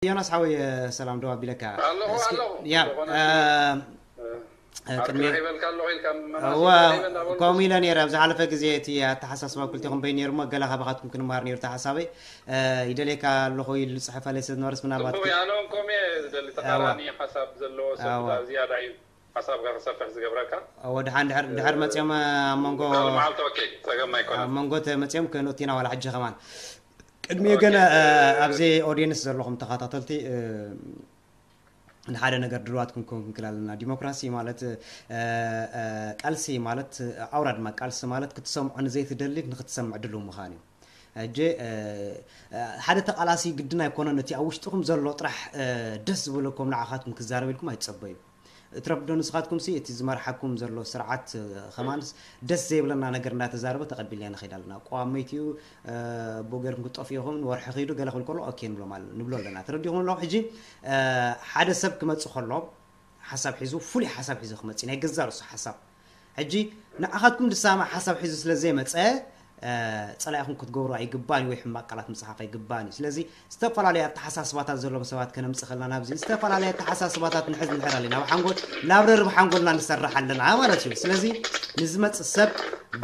ዮናስ ሓወይ፣ ሰላም ደው ኣቢለካ። ኣለኹ፣ እስኪ- ኣለኹ። ያ ዝኾነ እ፣ እ፣ ዓርኪ ቅድሚ ረኺበልካ ኣለኹ ኢልካ መናሲ እዋ ረኺበ እንዳበልኩ ከምኡ ኢለ ነይረ። ኣብ ዝሓለፈ ግዜ እቲ ኣተሓሳስባ ክልቲኹም በይኑ ነይሩ እሞ፣ ገለ ካባኻትኩም ክንመሃር ነይሩ እቲ ሓሳበይ። እ፣ ይደልየካ ኣለኹ ኢሉ ዝፅሐፈለይ ሰብ ዝነበረስ ምናልባት ጽቡቕ ክ- እያ። ኣነ ከምኡ እየ ዝደሊ። እዋ ተቓራኒ ሓሳብ ዘለዎ ሰብ እዋ ብዛዕባ ዝያዳ እዩ ሓሳብካ ክሰፍሕ ዝገብረካ። እወ፣ ድሓን ድሕር ድሕር መፅኦም ኣብ መንጎ ቃል መዓልቲ ኦኬ፣ ጸገም ኣይኮነን። ኣብ መንጎ ተመፅኦም ክነቱ ኢና ዋላ ሕጂ ከማን። ቅድሚኡ ግን ኦኬ፣ እ፣ እ፣ ኣብዚ ኦዲየንስ ዘለኹም ተኸታተልቲ እ፣ ንሓደ ነገር ድልዋት ክንከውን ክንክእል ኣለና። ዲሞክራሲ ማለት እ፣ እ፣ ቃልሲ ማለት እ፣ ኣውራ ድማ ቃልሲ ማለት ክትሰምዖ ንዘይትደሊ ንክትሰምዕ ድልው ምዃን እዩ። ሕጂ እ፣ እ፣ ሓደ ተቃላሲ ግድን ኣይኮነን እቲ ኣብ ውሽጥኹም ዘሎ ጥራሕ እ፣ ደስ ዝበለኩም ንዓኻትኩም ክዛረብ ኢልኩም ኣይትጸበዩ። እትረፍዶ ንስኻትኩም ሲ እቲ ዝመርሓኩም ዘሎ ስርዓት እ፣ ከማንስ ደስ ዘይብለና ነገር እንዳተዛረበ ተቐቢልና ንኸይድ ኣለና። ኣቋም መይትኡ እ፣ ብኡ ገይርኩም ክትጠፍኡ ኢኹም፣ ንወርሒ ኺዱ ገለ ክብል ከሎ ኦኬ ንብሎ ማለት ንብሎ ኣለና። ተረዲኹም ኣለኹም። ሕጂ እ፣ ሓደ ሰብ ክመጽእ ከሎ ሓሳብ ሒዙ ፍሉይ ሓሳብ ሒዙ ክመጽእ ናይ ገዛ ርእሱ ሓሳብ ሕጂ ንዓኻትኩም ዝሰማማዕ ሓሳብ ሒዙ ስለ ዘይመጸ እ፣ ጸላኢኹም ክትገብሩ ኣይግባን እዩ ወይ ሕማቕ ቃላት ምጽሓፍ ኣይግባን እዩ። ስለዚ ዝተፈላለዩ ኣተሓሳስባታት ዘለዎም ሰባት ከነምጽእ ከለና ናብዚ ዝተፈላለየ ኣተሓሳስባታት ንሕዝ ንሕር ኣለና። ናብ ሓንጎል ናብ ረርብ ሓንጎልና ንሰርሕ ኣለና ማለት እዩ። ስለዚ ንዝመጽእ ሰብ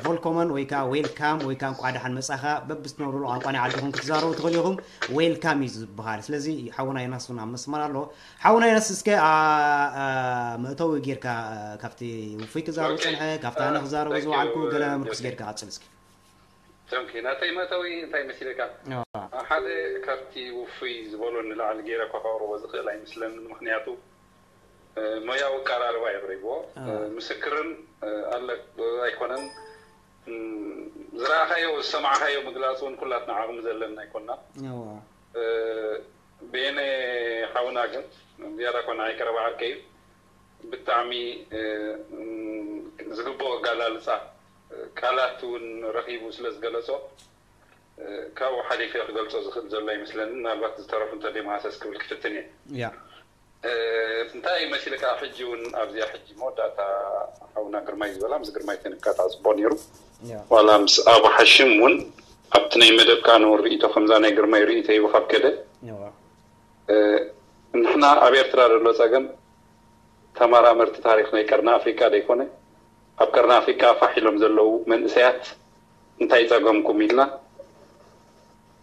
ቮልኮመን ወይ ከዓ ዌልካም ወይ ከዓ እንቋዕ ደሓን መጻኻ በብዝትነብሩሉ ቋንቋ ናይ ዓድኹም ክትዛረቡ ትኽእሉ ኢኹም። ዌልካም እዩ ዝበሃል። ስለዚ ሓውና ዮናስ እውን ኣብ መስመር ኣሎ። ሓውና ዮናስ እስከ ኣ፣ ኣ፣ መእተዊ ጌርካ እ፣ ካብቲ ውፉይ ክዛረቡ ኦኬ ጸንሐ ካብቲ ኣነ እ፣ ክዛረቡ thank you ዝወዓልኩ ገለ እ፣ ምርኩስ ጆሴ። ጌርካ ቀጽል እስኪ። ጆንኪ ናተይ መእተዊ እንታይ መሲለካ? እዋ ሓደ ካብቲ ውፉይ ዝበሎ ንላዕሊ ገይረ እኳ ከቕርቦ ዝኽእል ኣይመስለንን። ምኽንያቱ እ፣ ሞያዊ ኣቀራርባ የቕሪብዎ። እ፣ እዋ ምስክርን እ፣ ኣለ ኣይኮነን። እም፣ ዝረኣኻዮ ዝሰማዕኻዮ ምግላፅ እውን ኩላትና ዓቕሚ ዘለና ኣይኮንና። እዋ እ፣ ቤነ ሓውና ግን ዝያዳ ኮነ ኣይቀረባ ዓርከይ እዩ። ብጣዕሚ እ፣ እም፣ ዝግብኦ ኣጋላልፃ እ፣ ቃላት እውን ረኺቡ ስለ ዝገለፆ እ፣ ካብኡ ሓሊፈ ክገልፆ ዝኽእል ዘሎ ኣይመስለንን። ምናልባት ዝተረፉ እንተደይመሃሰስ ክብል ክፍትን እየ። ያ እ፣ እንታይ መሲልካ ሕጂ እውን ኣብዚኣ ሕጂ መወዳእታ ሓውና ግርማይ ዝበላ ምስ ግርማይ ተንካታ ፅቡቅ ነይሩ። ያ ዋላ ምስ ኣቡ ሓሽም እውን ኣብቲ ናይ መደብካ ንውን ርእይቶ ከምዛ ናይ ግርማይ ርእይቶ ይቡ ካብ ከደ እዋ እ፣ ንሕና ኣብ ኤርትራ ዘሎ ጸገም ተመራመርቲ ታሪኽ ናይ ቀርኒ ኣፍሪቃ ዘይኮነ ኣብ ቀርኒ ኣፍሪቃ ፋሕ ኢሎም ዘለዉ መንእሰያት እንታይ ጸገምኩም ኢልና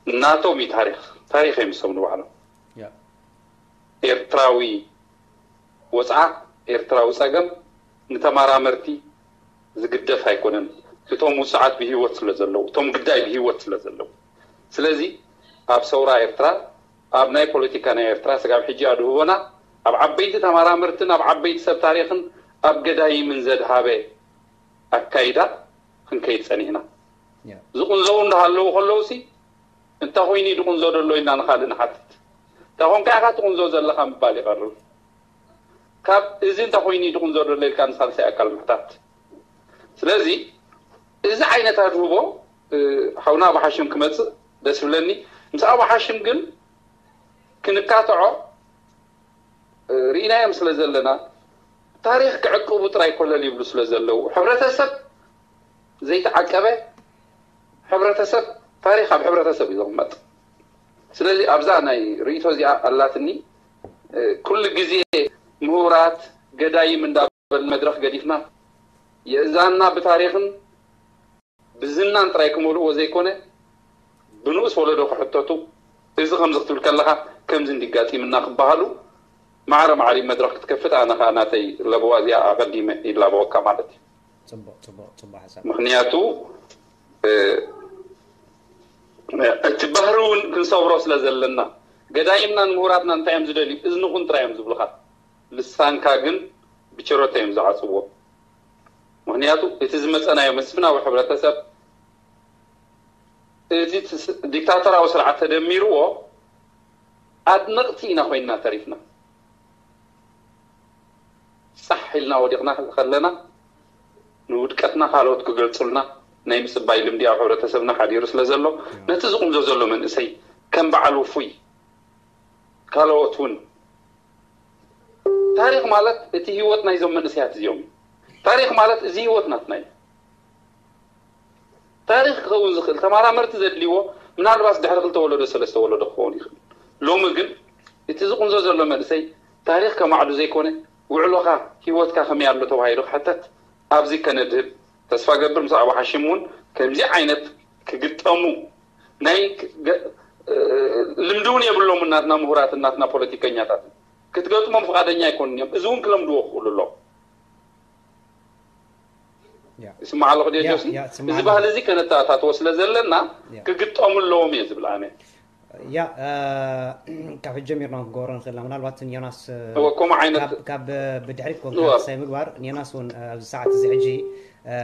ናቶም እዩ ታሪኽ ታሪኽ እዮም ዝሰሙ ንባዕሎም። ያ ኤርትራዊ ወጽዓ ኤርትራዊ ጸገም ንተመራመርቲ ዝግደፍ ኣይኮነን። እቶም ውጽዓት ብህይወት ስለ ዘለዉ እቶም ግዳይ ብህይወት ስለ ዘለዉ ስለዚ ኣብ ሰውራ ኤርትራ ኣብ ናይ ፖለቲካ ናይ ኤርትራ ስጋብ ሕጂ ኣድህቦና ኣብ ዓበይቲ ተመራመርትን ኣብ ዓበይቲ ሰብ ታሪኽን ኣብ ገዳይምን ዘድሃበ ኣካይዳ ክንከይድ ጸኒሕና። ዝቕንዘው እንዳሃለዉ ከለውሲ እንተ ኮይኑ ድቕንዞ ደሎ ኢልና ንኻልእ ንሓትት። እንተ ኮንካ ኢኻ ትቕንዞ ዘለኻ ምባል ይቐርብ። ካብ እዚ እንተ ኮይኑ ድቕንዞ ደሎ ኢልካ ንሳልሳይ ኣካል ምሕታት። ስለዚ እዚ ዓይነት ኣድህቦ ሓውና ኣቡ ሓሽም ክመፅእ ደስ ብለኒ። ምስ ኣቡ ሓሽም ግን ክንካትዖ ርኢናዮም ስለ ዘለና ታሪኽ ክዕቅቡ ጥራይ ኮለል ይብሉ ስለ ዘለዉ ሕብረተሰብ ዘይተዓቀበ ሕብረተሰብ ታሪኽ ኣብ ሕብረተሰብ እዩ ዝቕመጥ። ስለዚ ኣብዛ ናይ ርእይቶ እዚኣ ኣላትኒ ኩሉ ግዜ ምሁራት ገዳይም እንዳበል መድረኽ ገዲፍና የእዛንና ብታሪኽን ብዝናን ጥራይ ክመልእዎ ዘይኮነ ብንኡስ ወለዶ ክሕተቱ እዚ ከምዚ ክትብል ከለኻ ከምዚ እንዲጋጢምና ክበሃሉ ማዕረ ማዕሪ መድረኽ ክትከፍት ኣነ ከዓ ናተይ ለበዋ እዚኣ ኣቐዲመ ይላበወካ ማለት እዩ። ፅቡቕ ፅቡቕ ፅቡቕ ሓሳብ። ምክንያቱ እቲ ባህሪ እውን ክንሰብሮ ስለ ዘለና ገዳይምናን ምሁራትናን እንታይ እዮም ዝደልዩ? እዝንኹን ጥራይ እዮም ዝብሉኻ። ልሳንካ ግን ብቸሮታ እዮም ዝዓፅዎ። ምክንያቱ እቲ ዝመፀናዮ መስፍናዊ ሕብረተሰብ እቲ ዲክታተራዊ ስርዓት ተደሚርዎ ኣድነቕቲ ኢና ኮይንና ተሪፍና። ፃሕ ኢልና ወዲቕና ከለና ንውድቀትና ካልኦት ክገልፁልና ናይ ምፅባይ ልምዲ ኣብ ሕብረተሰብና ሓዲሩ ስለ ዘሎ ነቲ ዝቕንዞ ዘሎ መንእሰይ ከም በዓል ውፉይ ካልኦት እውን ታሪኽ ማለት እቲ ህይወት ናይዞም መንእሰያት እዚኦም እዩ። ታሪኽ ማለት እዚ ህይወት ናትና እዩ። ታሪኽ ክኸውን ዝኽእል ተመራመርቲ ዘድልይዎ ምናልባት ድሕሪ ክልተ ወለዶ ሰለስተ ወለዶ ክኸውን ይኽእል። ሎሚ ግን እቲ ዝቕንዞ ዘሎ መንእሰይ ታሪኽ ከማዕዱ ዘይኮነ፣ ውዕሎኻ፣ ህይወትካ ከመይ ኣሎ ተባሂሉ ክሕተት ኣብዚ ከነድህብ ተስፋ ገብር። ምስ ኣቡ ሓሽም እውን ከምዚ ዓይነት ክግጠሙ ናይ ክ-፣ ገ-፣ እ፣ ልምዲ እውን የብሎምን ናትና ምሁራትን ናትና ፖለቲከኛታትን። ክትገጥሞም ፍቓደኛ ኣይኮኑን እዮም። እዚ እውን ክለምድዎ ክኽእሉ ኣለዎም። ያ ይስማዕ ኣለኹ ድዮ ያ ጆሲ? ያ እዚ ትስማዕ ባህሊ ኣለኹ። እዚ ከነተኣታትዎ ስለ ዘለና ያ ክግጠሙ ኣለዎም እየ ዝብል ኣነ። ያ እ፣ ካብ ሕጂ ጀሚርና እውን ክገብሮ ንኽእል ኢና። ምናልባት ዮናስ እ፣ እወ፣ ከምኡ ዓይነት ካብ ካብ ብድሕሪት ኮንካ እወ ክሳይ ምግባር ዮናስ እውን እ፣ ኣብዚ ሰዓት እዚ ሕጂ እ፣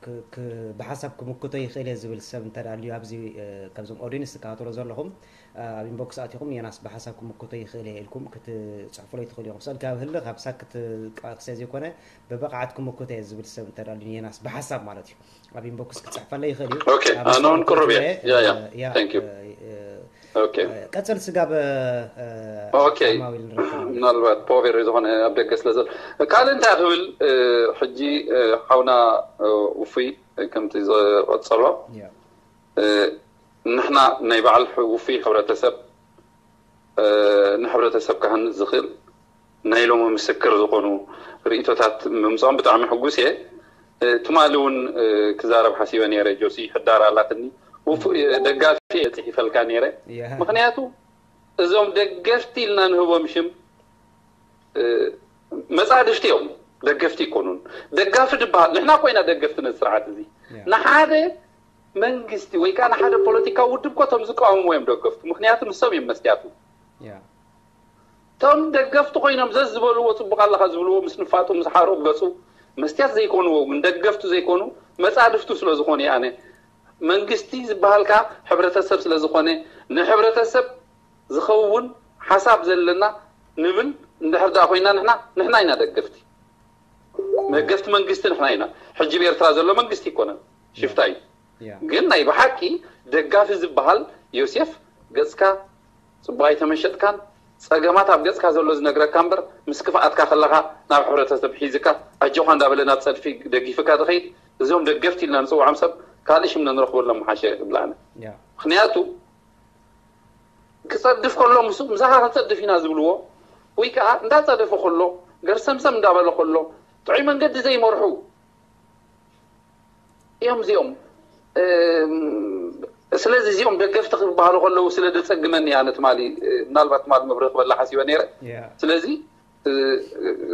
ክ- ክ- ብሓሳብ ክምክቶ ይኽእል እየ ዝብል ሰብ እንተ ደኣ ኣልዩ ኣብዚ እ፣ ካብዞም ኦዲንስ ትከታተሎ ዘለኹም እ፣ ኣብ ኢንቦክስ ኣቲኹም ዮናስ ብሓሳብ ክምክቶ ይኽእል እየ ኢልኩም ክትጽሕፉለይ ትኽእሉ ኢኹም። ስእልካ ኣብ ህልኽ ኣብ ሳክት ቃ- ክሰ ዘይኮነ ብብቕዓት ክምክቶ እየ ዝብል ሰብ እንተ ደኣ ኣልዩ ዮናስ ብሓሳብ ማለት እዩ ኣብ ኢንቦክስ ክጽሕፈለይ ይኽእል እዩ። ኦኬ፣ ኣብ ኣነ እውን መስመር ቅሩብ እየ። ክእትዎ እየ። ያ ያ እ፣ ያ thank you። እ፣ እ፣ ኦኬ እ፣ ቀጽል ስጋብ እ፣ ኦኬ። ዓማዊል ንረክብ ማለት እዩ። ምናልባት ፖቨሪ ዝኾነ ኣብ ደገ ስለ ዘሎ ካልእ እንታይ ክብል እ፣ ሕጂ እ፣ ሓውና እ፣ ውፉይ እ፣ ከምቲ ዝቐጸሎ ያ እ፣ ንሕና ናይ በዓል ሕ- ውፉይ ሕብረተሰብ እ፣ ንሕብረተሰብ ክሃንጽ ዝኽእል ናይ ሎሚ ምስክር ዝኾኑ ርእይቶታት ምምፅኦም ብጣዕሚ ሕጉስ እየ። እ፣ ትማሊ እውን እ፣ ክዛረብ ሓሲበ ነይረ። ጆሲ ሕዳር ኣላትኒ ውፉ እ፣ ደጋፊ እየ ጽሒፈልካ ነይረ። ያ ምክንያቱ እዞም ደገፍቲ ኢልና ንህቦም ሽም እ፣ መጻድፍቲ እዮም፣ ደገፍቲ ይኮኑን። ደጋፊ ድበሃል ንሕና ኮይና ደገፍቲ ነዚ ስርዓት እዚ ያ ንሓደ መንግስቲ ወይ ከዓ ንሓደ ፖለቲካዊ ውድብ ኮ እቶም ዝቃወምዎ እዮም ደገፍቱ፣ ምክንያቱ ንሶም እዮም መስትያቱ። ያ እቶም ደገፍቲ ኮይኖም ዘዝ ዝበልዎ ጽቡቕ ኣለኻ ዝብልዎ ምስ ንፋጡ ምስ ሓሩቕ ገጹ መስትያት ዘይኮንዎ ግን ደገፍቱ ዘይኮኑ መጻድፍቱ ስለ ዝኾኑ እየ ኣነ መንግስቲ ዝበሃል ከዓ ሕብረተሰብ ስለ ዝኾነ ንሕብረተሰብ ዝኸውን ሓሳብ ዘለና ንብል እንድሕር ደኣ ኮይና ንሕና ንሕና ኢና ደገፍቲ መገፍቲ መንግስቲ ንሕና ኢና ሕጂ ብኤርትራ ዘሎ መንግስቲ ይኮነን ሽፍታ እዩ ያ ግን ናይ ብሓቂ ደጋፊ ዝበሃል ዮሴፍ ገጽካ ጽቡቕ ኣይተመሸጥካን ጸገማት ኣብ ገጽካ ዘሎ ዝነግረካ እምበር ምስ ክፍኣትካ ከለኻ ናብ ሕብረተሰብ ሒዝካ ኣጆኻ እንዳበለ ናብ ጸድፊ ደጊፍካ ትኸይድ እዞም ደገፍቲ ኢልና ንጽውዖም ሰብ ካልእ ሽም ነንረኽበሎም ምሓሸ እብላነ ያ ምክንያቱ ክጸድፍ ከሎ ምስ ምሳኻ ክንጸድፍ ኢና ዝብልዎ ወይ ከዓ እንዳጸደፈ ከሎ ገርሰምሰም እንዳበለ ከሎ ጥዑይ መንገዲ ዘይመርሑ እዮም እዚኦም እም፣ ስለዚ እዚኦም ደገፍቲ ክበሃሉ ከለዉ ስለ ደጸግመኒ ኣነ ትማሊ እ፣ ምናልባት ትማሊ መብርህ ክበላ ሓሲበ ነይረ ያ ስለዚ እ፣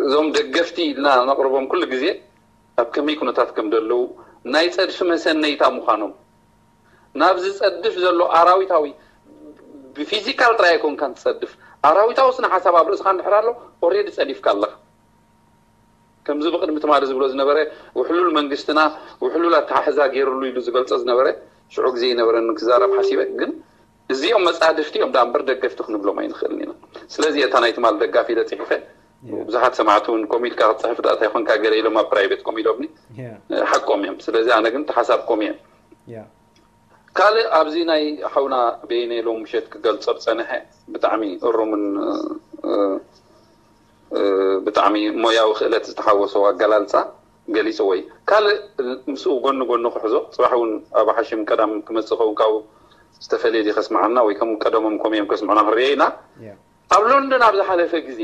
እዞም ደገፍቲ ኢልና ነቕርቦም ኩሉ ግዜ ኣብ ከመይ ኩነታት ከም ዘለዉ ናይ ጸድፊ መሰነይታ ምዃኖም ናብ ዝጸድፍ ዘሎ ኣራዊታዊ ብፊዚካል ጥራይ ኣይኮንካን ትጸድፍ ኣራዊታዊ ስነ ሓሳብ ኣብ ርእስኻ እንድሕር ኣሎ ኦሬዲ ጸዲፍካ ኣለኻ ከምዚ ብቅድሚ ትማሊ ዝብሎ ዝነበረ ውሕሉል መንግስትና ውሕሉል ኣተሓሕዛ ገይርሉ ኢሉ ዝገልጾ ዝነበረ ሽዑ ግዜ ይነበረኒ ክዛረብ ሓሲበ ግን እዚኦም መጻድፍቲ እዮም ዳ እምበር ደገፍቲ ክንብሎም ኣይንኽእልን ኢና ስለዚ እታ ናይ ትማሊ ደጋፊ ኢለ ጽሒፈ ብዙሓት ሰማዕቲ እውን ኮሚልካ ክትጽሕፍ ዳእታ ይኮንካ ገለ ኢሎም ኣብ ፕራይቬት ኮም ኢሎምኒ ሓቆም እዮም ስለዚ ኣነ ግን ተሓሳብኮም እየ ካልእ ኣብዚ ናይ ሓውና በይነ ሎም ምሸት ክገልጾ ዝጸንሐ ብጣዕሚ እሩምን ብጣዕሚ ሞያዊ ክእለት ዝተሓወሶ ኣገላልጻ ገሊጽዎ እዩ ካልእ ምስኡ ጎኒ ጎኒ ክሕዞ ጽባሕ እውን ኣብ ሓሽም ቀዳም ክመጽእ ኸውን ካብኡ ዝተፈለየ ከስምዓና ወይ ከም ቀደሞም ኮም እዮም ከስምዑና ክንሪኦ ኢና ኣብ ሎንዶን ኣብ ዝሓለፈ ግዜ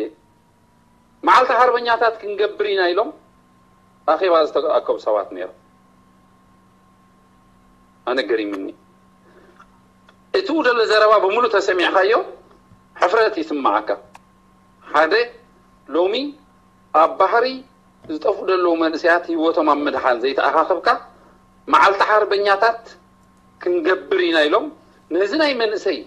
መዓልቲ ሓርበኛታት ክንገብር ኢና ኢሎም ኣኼባ ዝተኣከቡ ሰባት ነይሮም ኣነ ገሪምኒ እቲ ውደለ ዘረባ ብምሉእ ተሰሚዕካዮ ሕፍረት ይስምዓካ ሓደ ሎሚ ኣብ ባሕሪ ዝጠፍኡ ዘለዉ መንእሰያት ህይወቶም ኣብ ምድሓን ዘይተኣኻኸብካ መዓልቲ ሓርበኛታት ክንገብር ኢና ኢሎም ነዚ ናይ መንእሰይ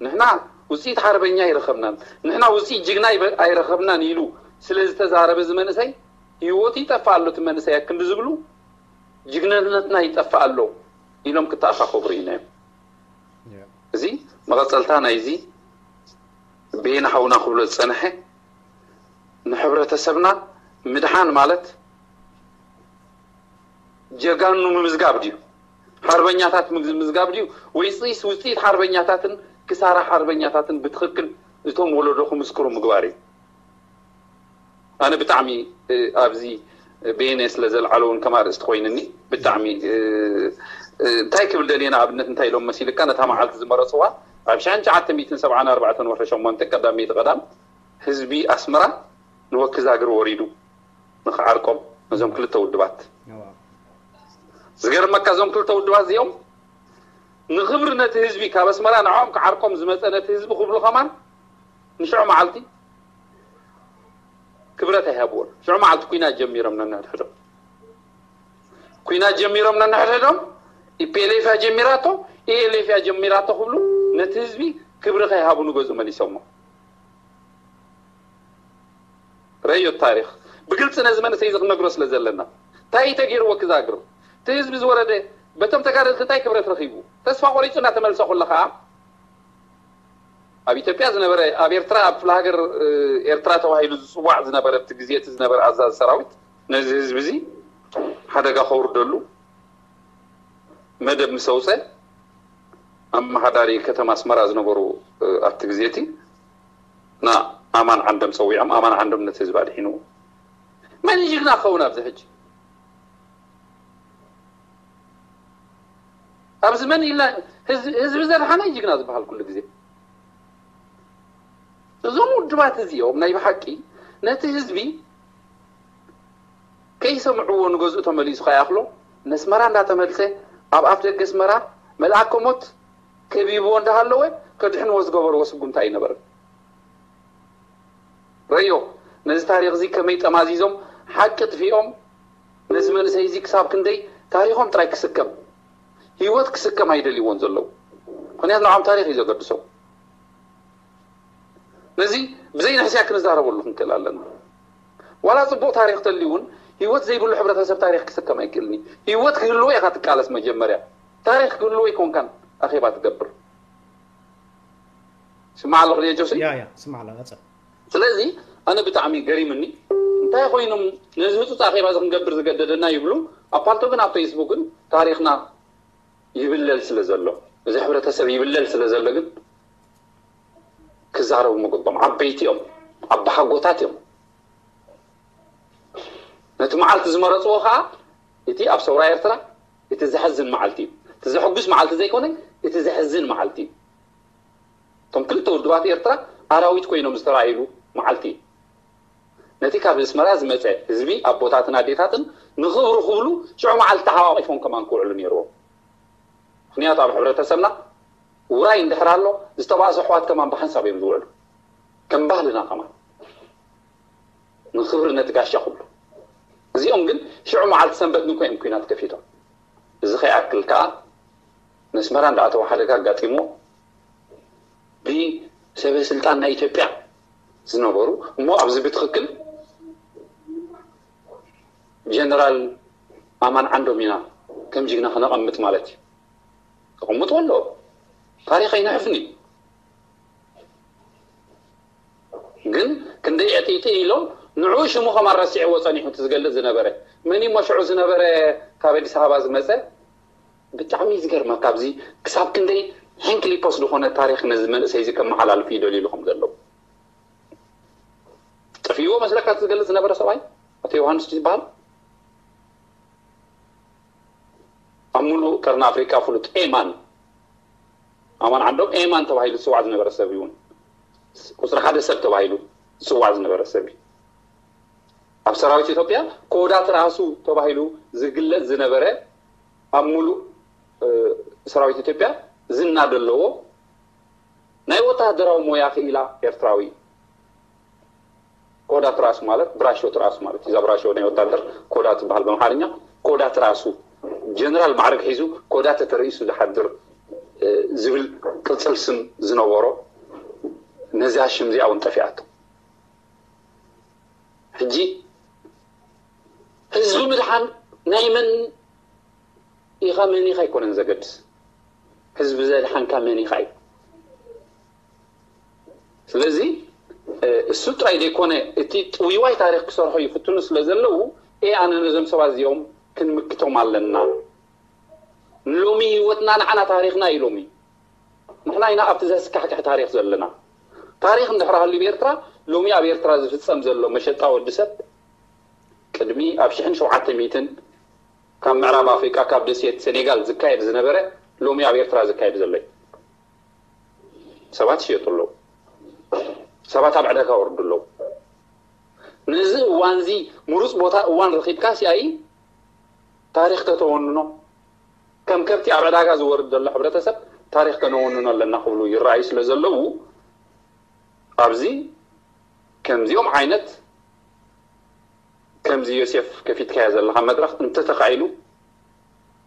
ንሕና ውፅኢት ሓርበኛ ኣይረኸብናን ንሕና ውፅኢት ጅግና ኣይረኸብናን ኢሉ ስለ ዝተዛረበ እዚ መንእሰይ ህይወቱ ይጠፍእ ኣሎ እቲ መንእሰይ ኣክንዲ ዝብሉ ጅግንነትና ይጠፍእ ኣሎ ኢሎም ክተኣኻኸቡ ርኢናዮም እዚ መቐፀልታ ናይዚ ቤን ሓውና ክብሎ ዝፀንሐ ንሕብረተሰብና ምድሓን ማለት ጀጋኑ ምምዝጋብ ድዩ ሓርበኛታት ምምዝጋብ ድዩ ወይስ ውፅኢት ሓርበኛታትን ክሳራ ሓርበኛታትን ብትኽክል እቶም ወለዶ ክምስክሩ ምግባር እዩ ኣነ ብጣዕሚ ኣብዚ ቤነ ስለ ዘልዓለውን ከማ ርእስቲ ኮይንኒ ብጣዕሚ እንታይ ክብል ደልየ ንኣብነት እንታይ ኢሎም መሲልካ ነታ መዓልቲ ዝመረፅዋ ኣብ ሸሕን ትሽዓተ ሚእትን ሰብዓን ኣርባዕተን ወርሒ ሸሞንተ ቀዳመይቲ ቀዳም ህዝቢ ኣስመራ ንወኪ ዛግር ወሪዱ ንኽዓርቆም ነዞም ክልተ ውድባት። ዝገርመካ እዞም ክልተ ውድባት እዚኦም ንኽብሪ ነቲ ህዝቢ ካብ ኣስመራ ንዕኦም ክዓርቆም ዝመፀ ነቲ ህዝቢ ክብሉ ከማን ንሽዑ መዓልቲ ክብረት ኣይሃብዎን። ሽዑ መዓልቲ ኩናት ጀሚሮም ነንሕድሕዶም ኩናት ጀሚሮም ነንሕድሕዶም ኢፒኤልኤፍ እያ ጀሚራቶ ኢኤልኤፍ እያ ጀሚራቶ ክብሉ ነቲ ህዝቢ ክብሪ ከይሃቡ ንገዝኡ መሊሶሞ። ረዮ ታሪኽ ብግልፂ ነዚ መንእሰይ እዚ ክነግሮ ስለ ዘለና እንታይ እዩ ተገይርዎ ክዛግር እቲ ህዝቢ ዝወረደ በቶም ተጋደልቲ እንታይ ክብረት ረኺቡ ተስፋ ቆሪፁ እናተመልሰ ኩለ ከዓ ኣብ ኢትዮጵያ ዝነበረ ኣብ ኤርትራ ኣብ ክፍለ ሃገር ኤርትራ ተባሂሉ ዝፅዋዕ ዝነበረ እቲ ግዜ እቲ ዝነበረ ኣዛዚ ሰራዊት ነዚ ህዝቢ እዚ ሓደጋ ከውርደሉ መደብ ምስ ኣውፀ ኣመሓዳሪ ከተማ ኣስመራ ዝነበሩ ኣብቲ ግዜ እቲ ንኣማን ዓንዶም ፀዊዖም ኣማን ዓንዶም ነቲ ህዝቢ ኣድሒንዎ። መን እዩ ጅግና ክኸውን ኣብዚ ሕጂ? ኣብዚ መን ኢልና ህዝቢ ዘድሓነ ጅግና ዝበሃል ኩሉ ግዜ እዞም ውድባት እዚኦም ናይ ብሓቂ ነቲ ህዝቢ ከይሰምዕዎ ንገዝኡ ተመሊሱ ከይኣኽሎ ነስመራ እንዳተመልሰ ኣብ ኣፍ ደገ ኣስመራ መልኣከ ሞት ከቢብዎ እንዳሃለወ ከድሕንዎ ዝገበርዎ ስጉምቲ ኣይነበረን። ረዮ ነዚ ታሪኽ እዚ ከመይ ጠማዚዞም ሓቂ ጥፊኦም ነዚ መንእሰይ እዚ ክሳብ ክንደይ ታሪኾም ጥራይ ክስከም ህይወት ክስከም ኣይደልይዎን ዘለዉ። ምክንያቱ ንዓም ታሪኽ እዩ ዘገድሶም። ነዚ ብዘይ ንሕስያ ክንዛረበሉ ክንክእል ኣለና። ዋላ ፅቡቅ ታሪክ ተልዩ እውን ህይወት ዘይብሉ ሕብረተሰብ ታሪክ ክስከም ኣይክእልን እዩ። ህይወት ክህልዎ ኢካ ትቃለስ መጀመርያ። ታሪክ ክህልዎ ይኮንካን ኣኼባ ትገብር። ስማዕ ኣለኹ ድየ ጆሲ? ያ ያ ስማዕ ኣለኹ ቀጽል። ስለዚ ኣነ ብጣዕሚ ገሪምኒ እንታይ ኮይኖም ነዚ ህፁፅ ኣኼባ እዚ ክንገብር ዝገደደና ይብሉ። ኣብ ፓልቶ ግን ኣብ ፌስቡክን ታሪክና ይብለል ስለ ዘሎ እዚ ሕብረተሰብ ይብለል ስለ ዘሎ ግን ክዛረቡ ምግቦም ዓበይቲ እዮም ኣባሓጎታት እዮም። ነቲ መዓልቲ ዝመረፅዎ ከዓ እቲ ኣብ ሰውራ ኤርትራ እቲ ዘሕዝን መዓልቲ እዩ። እቲ ዘሕጉስ መዓልቲ ዘይኮነ እቲ ዘሕዝን መዓልቲ እዩ። እቶም ክልተ ውድባት ኤርትራ ኣራዊት ኮይኖም ዝተራእይሉ መዓልቲ እዩ። ነቲ ካብ ኣስመራ ዝመፀ ህዝቢ ኣቦታትን ኣዴታትን ንኽብሩ ክብሉ ሽዑ መዓልቲ ተሓቋቒፎም ከማን ክውዕሉ ነይርዎም። ምክንያቱ ኣብ ሕብረተሰብና ውራይ እንድሕር ኣሎ ዝተባእሱ ኣሕዋት ከማን ብሓንሳብ እዮም ዝውዕሉ። ከም ባህልና ከማን ንክብሪ ነቲ ጋሻ ክብሉ እዚኦም ግን ሽዑ መዓልቲ ሰንበት ንኮ እዮም ኩናት ከፊቶም። እዚ ከይኣክል ከዓ ነስመራ እንዳኣተወ ሓደጋ ኣጋጢሞ ብሰበ ስልጣን ናይ ኢትዮጵያ ዝነበሩ እሞ ኣብዚ ብትክክል ጀነራል ኣማን ዓንዶም ኢና ከም ጅግና ክነቐምጥ ማለት እዩ። ተቐምጡ ኣሎ ታሪክ ኣይንሕፍን እዩ። ግን ክንደይ ዕጥይጢ ኢሎም ንዑ ሽሙ ከማን ረሲዕዎ ፀኒሑ እቲ ዝገልፅ ዝነበረ መን እሞ ሽዑ ዝነበረ ካብ ኣዲስ ኣበባ ዝመፀ ብጣዕሚ ዝገርመካ ኣብዚ ክሳብ ክንደይ ሕንክሊፖስ ዝኾነ ታሪክ ነዚ መንእሰይ እዚ ከመሓላልፉ ይደልዩ ኢሉ ከም ዘለዉ ጠፊእዎ መስለካ እቲ ዝገልፅ ዝነበረ ሰብኣይ ኣቶ ዮሃንስ ዝበሃል ኣብ ሙሉእ ቀርኒ ኣፍሪካ ፍሉጥ ኤማን ኣማን ዓንዶም ኤማን ተባሂሉ ዝፅዋዕ ዝነበረ ሰብ እውን ቁፅሪ ሓደ ሰብ ተባሂሉ ዝፅዋዕ ዝነበረ ሰብ እዩ። ኣብ ሰራዊት ኢትዮጵያ ኮዳት ራሱ ተባሂሉ ዝግለፅ ዝነበረ ኣብ ሙሉእ ሰራዊት ኢትዮጵያ ዝና ዘለዎ ናይ ወታደራዊ ሞያ ክኢላ ኤርትራዊ ኮዳ ትራሱ ማለት ብራሾ ትራሱ ማለት እዛ ብራሾ ናይ ወታደር ኮዳ ትበሃል በምሓርኛ ኮዳ ትራሱ ጀነራል ማዕረግ ሒዙ ኮዳ ተተርእሱ ዝሓድር ዝብል ቅፅል ስም ዝነበሮ ነዚኣ ሽም እዚኣ እውን ጠፊኣቶ። ሕጂ ህዝቢ ምድሓን ናይ መን ኢኻ መን ኢኻ ኣይኮነን ዘገድስ ህዝቢ ዘድሓንካ መን ኢኻ እዩ። ስለዚ እሱ ጥራይ ዘይኮነ እቲ ጥውይዋይ ታሪክ ክሰርሖ ይፍትኑ ስለ ዘለዉ ኤ ኣነ ነዞም ሰባት እዚኦም ክንምክቶም ኣለና። ሎሚ ህይወትና ንዓና ታሪክና እዩ ሎሚ ንሕና ኢና ኣብቲ ዘስካሕክሕ ታሪክ ዘለና። ታሪክ እንድሕር ሃልዩ ብኤርትራ ሎሚ ኣብ ኤርትራ ዝፍፀም ዘሎ መሸጣ ወዲ ሰብ ቅድሚ ኣብ ሽሕን ሸውዓተ ሚእትን ካብ ምዕራብ ኣፍሪቃ ካብ ደሴት ሴኔጋል ዝካየድ ዝነበረ ሎሚ ኣብ ኤርትራ ዝካየድ ዘሎ እዩ። ሰባት ይሸጡ ኣለዉ። ሰባት ኣብ ዕዳጋ ወርዱ ኣለዉ። ነዚ እዋንዚ ምሩፅ ቦታ እዋን ረኺብካ ሲኣይ ታሪኽ ከተወንኖ፣ ከም ከብቲ ኣብ ዕዳጋ ዝወርድ ዘሎ ሕብረተሰብ ታሪኽ ከነወንኖ ኣለና ክብሉ ይረኣዩ ስለ ዘለዉ፣ ኣብዚ ከምዚኦም ዓይነት ከምዚ ዮሴፍ ከፊትካዮ ዘለኻ መድረኽ እንተተኻኢሉ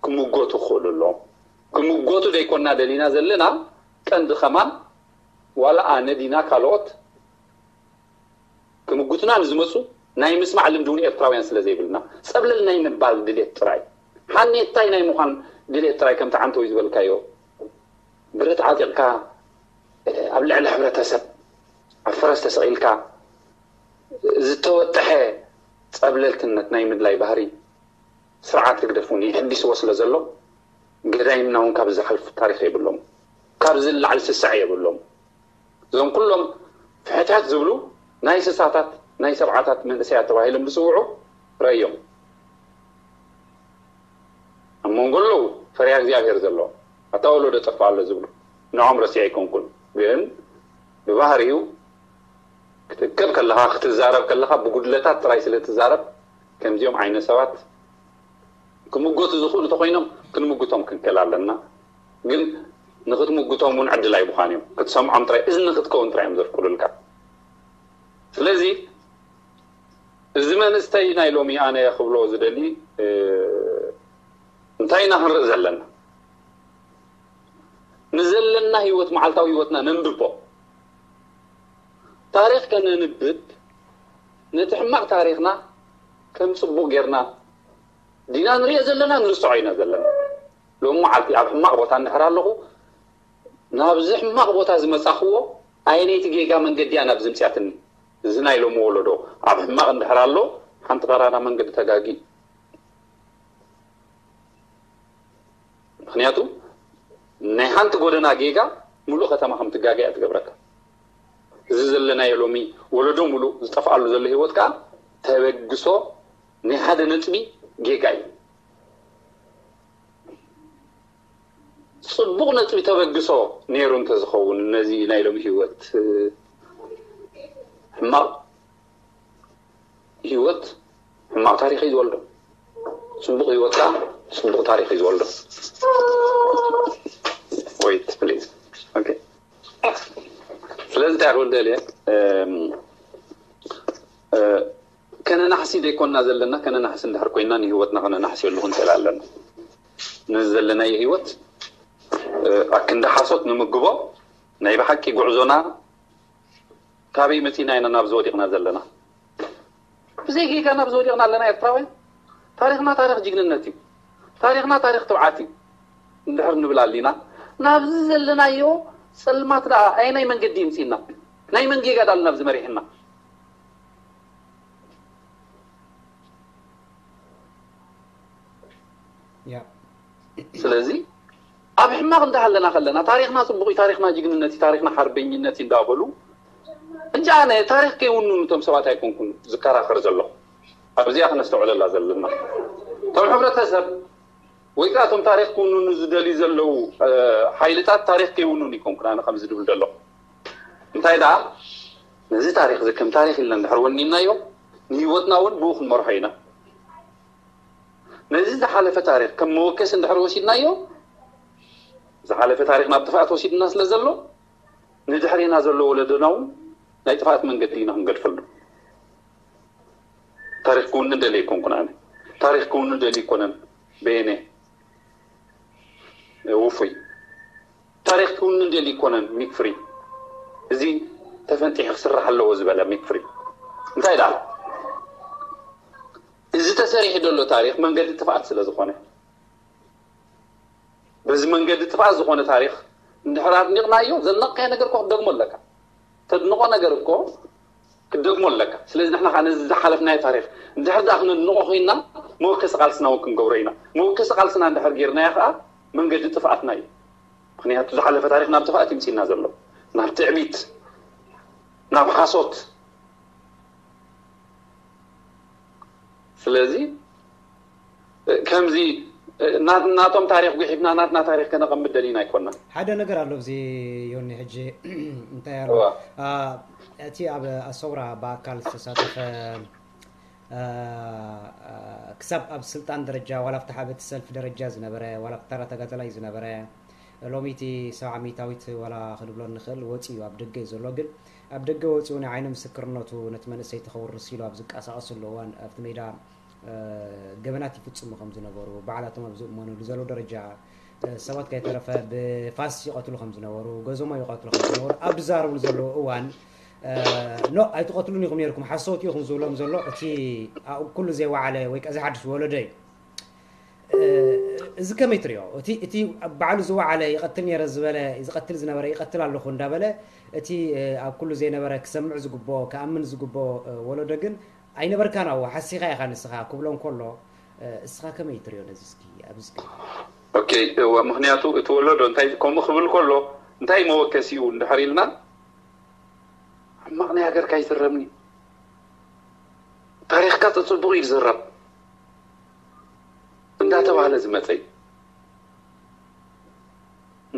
ክምጎቱ ክኽእሉ ኣለዎም። ክምጎቱ ደይኮና ደሊና ዘለና ቀንዲ ከማን ዋላ ኣነ ዲና ካልኦት ክምጉትና ንዝመፁ ናይ ምስማዕ ልምዲ እውን ኤርትራውያን ስለ ዘይብልና፣ ጸብለል ናይ ምባል ድሌት ጥራይ፣ ሓኔታይ ናይ ምዃን ድሌት ጥራይ፣ ከምቲ ዓንተወይ ዝበልካዮ፣ ብረት ዓጢቕካ ኣብ ልዕሊ ሕብረተሰብ ኣብ ፈረስ ተሰቒልካ ዝተወጠሐ ጸብለልትነት ናይ ምድላይ ባህሪ ስርዓት ህግደፍ እውን ይሕዲስዎ ስለ ዘሎ፣ ገዳይምና እውን ካብ ዝሓልፉ ታሪኽ የብሎም፣ ካብ ዝለዓል ስስዐ የብሎም። እዞም ኩሎም ፍሕትሕት ዝብሉ ናይ ስሳታት ናይ ሰብዓታት መንእሰያት ተባሂሎም ዝፅውዑ ረእዮም። ኣብ መንጎ ኣለዉ ፈሪሃ እግዚኣብሔር ዘለዎም፣ ኣታ ወለዶ ጠፍእ ኣሎ ዝብሉ፣ ንዖም ረሲዐ ኣይኮንኩን። ግን ብባህሪኡ ክትእከብ ከለኻ፣ ክትዛረብ ከለኻ ብጉድለታት ጥራይ ስለ ትዛረብ፣ ከምዚኦም ዓይነት ሰባት ክምጎቱ ዝኽእሉ ተኾይኖም ክንምጉቶም ክንክእል ኣለና። ግን ንኽትምጉቶም እውን ዕድል ኣይብኻን እዮም። ክትሰምዖም ጥራይ፣ እዝኒ ክትከውን ጥራይ እዮም ዘፍቅዱልካ። ስለዚ እዚ መንእሰይ ናይ ሎሚ ኣነ ክብሎ ዝደሊ፣ እ፣ እንታይ ኢና ክንርኢ ዘለና? ንዘለና ህይወት፣ መዓልታዊ ህይወትና ነንብቦ። ታሪኽ ከነንብብ፣ ነቲ ሕማቕ ታሪኽና ከም ጽቡቕ ጌርና ዲና ንሪኦ ዘለና፣ ንርስዖ ኢና ዘለና። ሎሚ መዓልቲ ኣብ ሕማቕ ቦታ እንድሕር ኣለኹ፣ ናብዚ ሕማቕ ቦታ ዝመጻኽዎ ኣየነይቲ ጌጋ መንገዲ እያ ናብዚ ምጽያትኒ? እዚ ናይ ሎሚ ወለዶ ኣብ ሕማቕ እንድሕር ኣሎ፣ ሓንቲ ቀዳዳ መንገዲ ተጋጊ። ምኽንያቱ ናይ ሓንቲ ጎደና ጌጋ ሙሉእ ከተማ ከም ትጋገ እያ ትገብረካ። እዚ ዘለናዮ ሎሚ ወለዶ ሙሉእ ዝጠፍኣሉ ዘሎ ህይወት ከኣ ተበግሶ ናይ ሓደ ነጥቢ ጌጋ እዩ። ጽቡቕ ነጥቢ ተበግሶ ነይሩ እንተዝኸውን፣ ነዚ ናይ ሎሚ ህይወት፣ እ፣ ሕማቕ ህይወት ሕማቕ ታሪኽ እዩ ዝወልዶ። ጽቡቕ ህይወት ከኣ ጽቡቕ ታሪኽ እዩ ዝወልዶ። Wait, please. Okay. ስለዚ እንታይ ክብል ደልየ፣ እም፣ እ፣ ከነናሕሲ ዘይኮንና ዘለና፣ ከነናሕሲ እንድሕር ኮይንና ንህይወትና ከነናሕስየሉ ክንክእል ኣለና። ነዚ ዘለናዮ ህይወት፣ እ፣ ኣክንዲ ሓሶት ንምግቦ፣ ናይ ብሓቂ ጉዕዞና ካበይ መጺና ኢና ናብዚ ወዲቕና ዘለና? ብዘይ ጌጋ ናብዚ ወዲቕና ኣለና ኤርትራውያን። ታሪኽና ታሪኽ ጅግንነት እዩ። ታሪኽና ታሪኽ ትብዓት እዩ እንድሕር ንብል ኣሊና፣ ናብዚ ዘለናዮ ጸልማት ደኣ ኣየናይ መንገዲ ይምጽእና? ናይ መን ጌጋ ደኣ ናብዚ መሪሕና? ያ ስለዚ ኣብ ሕማቕ እንዳሃለና ከለና፣ ታሪኽና ጽቡቕ እዩ፣ ታሪኽና ጅግንነት እዩ፣ ታሪኽና ሓርበኝነት እዩ እንዳበሉ፣ እንጂ ኣነ ታሪኽ ከይውንኑ እቶም ሰባት ኣይኮንኩን ዝከራኸር ዘለኹ። ኣብዚኣ ክነስተውዕለላ ዘለና። እቶም ሕብረተሰብ ወይ ከዓ እቶም ታሪኽ ክውንኑ ዝደልዩ ዘለዉ፣ እ፣ ሓይልታት ታሪኽ ከይውንኑ ኣይኮንኩን ኣነ ከምዚ ድብል ዘለኹ። እንታይ ደኣ፣ ነዚ ታሪኽ እዚ ከም ታሪኽ ኢልና እንድሕር ወኒንናዮ፣ ንህይወትና እውን ብኡ ክንመርሖ ኢና። ነዚ ዝሓለፈ ታሪኽ ከም መወከሲ እንድሕር ወሲድናዮ፣ ዝሓለፈ ታሪኽ ናብ ጥፍኣት ወሲድና ስለ ዘሎ፣ ንድሕሬና ዘሎ ወለዶና እውን ናይ ጥፍኣት መንገዲ ኢና ክንገድፈሉ። ታሪኽ ክውንን ደልየ ኣይኮንኩን ኣነ። ታሪኽ ክውንን ደልዩ ኣይኮነን በየነ ውፉይ። ታሪኽ ክውንን ደልዩ ኣይኮነን ሚክ ፍሪ። እዚ ተፈንጢሑ ክስራሕ ኣለዎ ዝበለ ሚክ ፍሪ። እንታይ ደኣ? እዚ ተሰሪሑ ዘሎ ታሪኽ መንገዲ ጥፍኣት ስለ ዝኾነ፣ በዚ መንገዲ ጥፍኣት ዝኾነ ታሪኽ እንድሕር ኣድኒቕናዮ፣ ዘድነቕካዮ ነገር እኮ ክትደግሞ ኣለካ። ተድንቖ ነገር እኮ ክትደግሞ ኣለካ። ስለዚ ንሕና ከዓ ነዚ ዝሓለፍናዮ ታሪኽ እንድሕር ደኣ ክነድንቖ ኮይንና፣ መወከሲ ቃልስና እውን ክንገብሮ ኢና። መወከሲ ቃልስና እንድሕር ጌርናዮ ከዓ መንገዲ ጥፍኣትና እዩ። ምኽንያቱ ዝሓለፈ ታሪኽ ናብ ጥፍኣት ይምፅእና ዘሎ፣ ናብ ትዕቢት፣ ናብ ሓሶት። ስለዚ ከምዚ ናቶም ታሪክ ጉሒፍና ናትና ታሪክ ከነቐምጥ ደሊና ኣይኮና። ሓደ ነገር ኣሎ እዚ ዮኒ፣ ሕጂ እንታይ ኣሎ እቲ ኣብ ኣሰውራ ብኣካል ዝተሳተፈ ክሳብ ኣብ ስልጣን ደረጃ ዋላ ኣብቲ ሓበቲ ሰልፊ ደረጃ ዝነበረ ዋላ ተራ ተጋደላይ ዝነበረ ሎሚ እቲ ሰብዓ ሚእታዊት ዋላ ክንብሎ ንኽእል ወፂኡ ኣብ ደገ እዩ ዘሎ። ግን ኣብ ደገ ወፂኡ ናይ ዓይኒ ምስክርነቱ ነቲ መንእሰይ ተኸውርስ ኢሉ ኣብ ዝቀሳቀስሉ እዋን ኣብቲ ሜዳ ገበናት ይፍፅሙ ከም ዝነበሩ ባዕላቶም ኣብ ዝእመኑሉ ዘለዉ ደረጃ ሰባት ከይተረፈ ብፋስ ይቐትሉ ከም ዝነበሩ ገዞሞ ይቐትሉ ከም ዝነበሩ ኣብ ዝዛረብሉ ዘለዉ እዋን ኖ ኣይትቐትሉን ኢኹም ነርኩም ሓሰውቲ ኢኹም ዝብሎም ዘሎ እቲ ኣብኡ ኩሉ ዘይወዓለ ወይ ከዓ ዘይሓድሽ ወለዶ እዩ። እዚ ከመይ ትሪኦ? እቲ ባዕሉ ዝወዓለ ይቐትል ነረ ዝበለ ዝቐትል ዝነበረ ይቐትል ኣለኹ እንዳበለ እቲ ኣብ ኩሉ ዘይነበረ ክሰምዕ ዝግብኦ ክኣምን ዝግብኦ ወለዶ ግን ኣይነበርካን ኣብኡ ሓሲኻ ኢኻ ንስኻ ክብሎ እንከሎ እስኻ ከመይ ትሪኦ ነዚ እስኪ ኣብዚ እስኪ ኦኬ እወ ምኽንያቱ እቲ ወለዶ እንታይ ከምኡ ክብል ከሎ እንታይ መወከሲኡ እንድሕር ኢልና ሕማቕ ናይ ሃገርካ ይዝረብኒ ታሪኽካ ጽጽቡቕ እዩ ዝዝረብ እንዳተባህለ ዝመጸ እዩ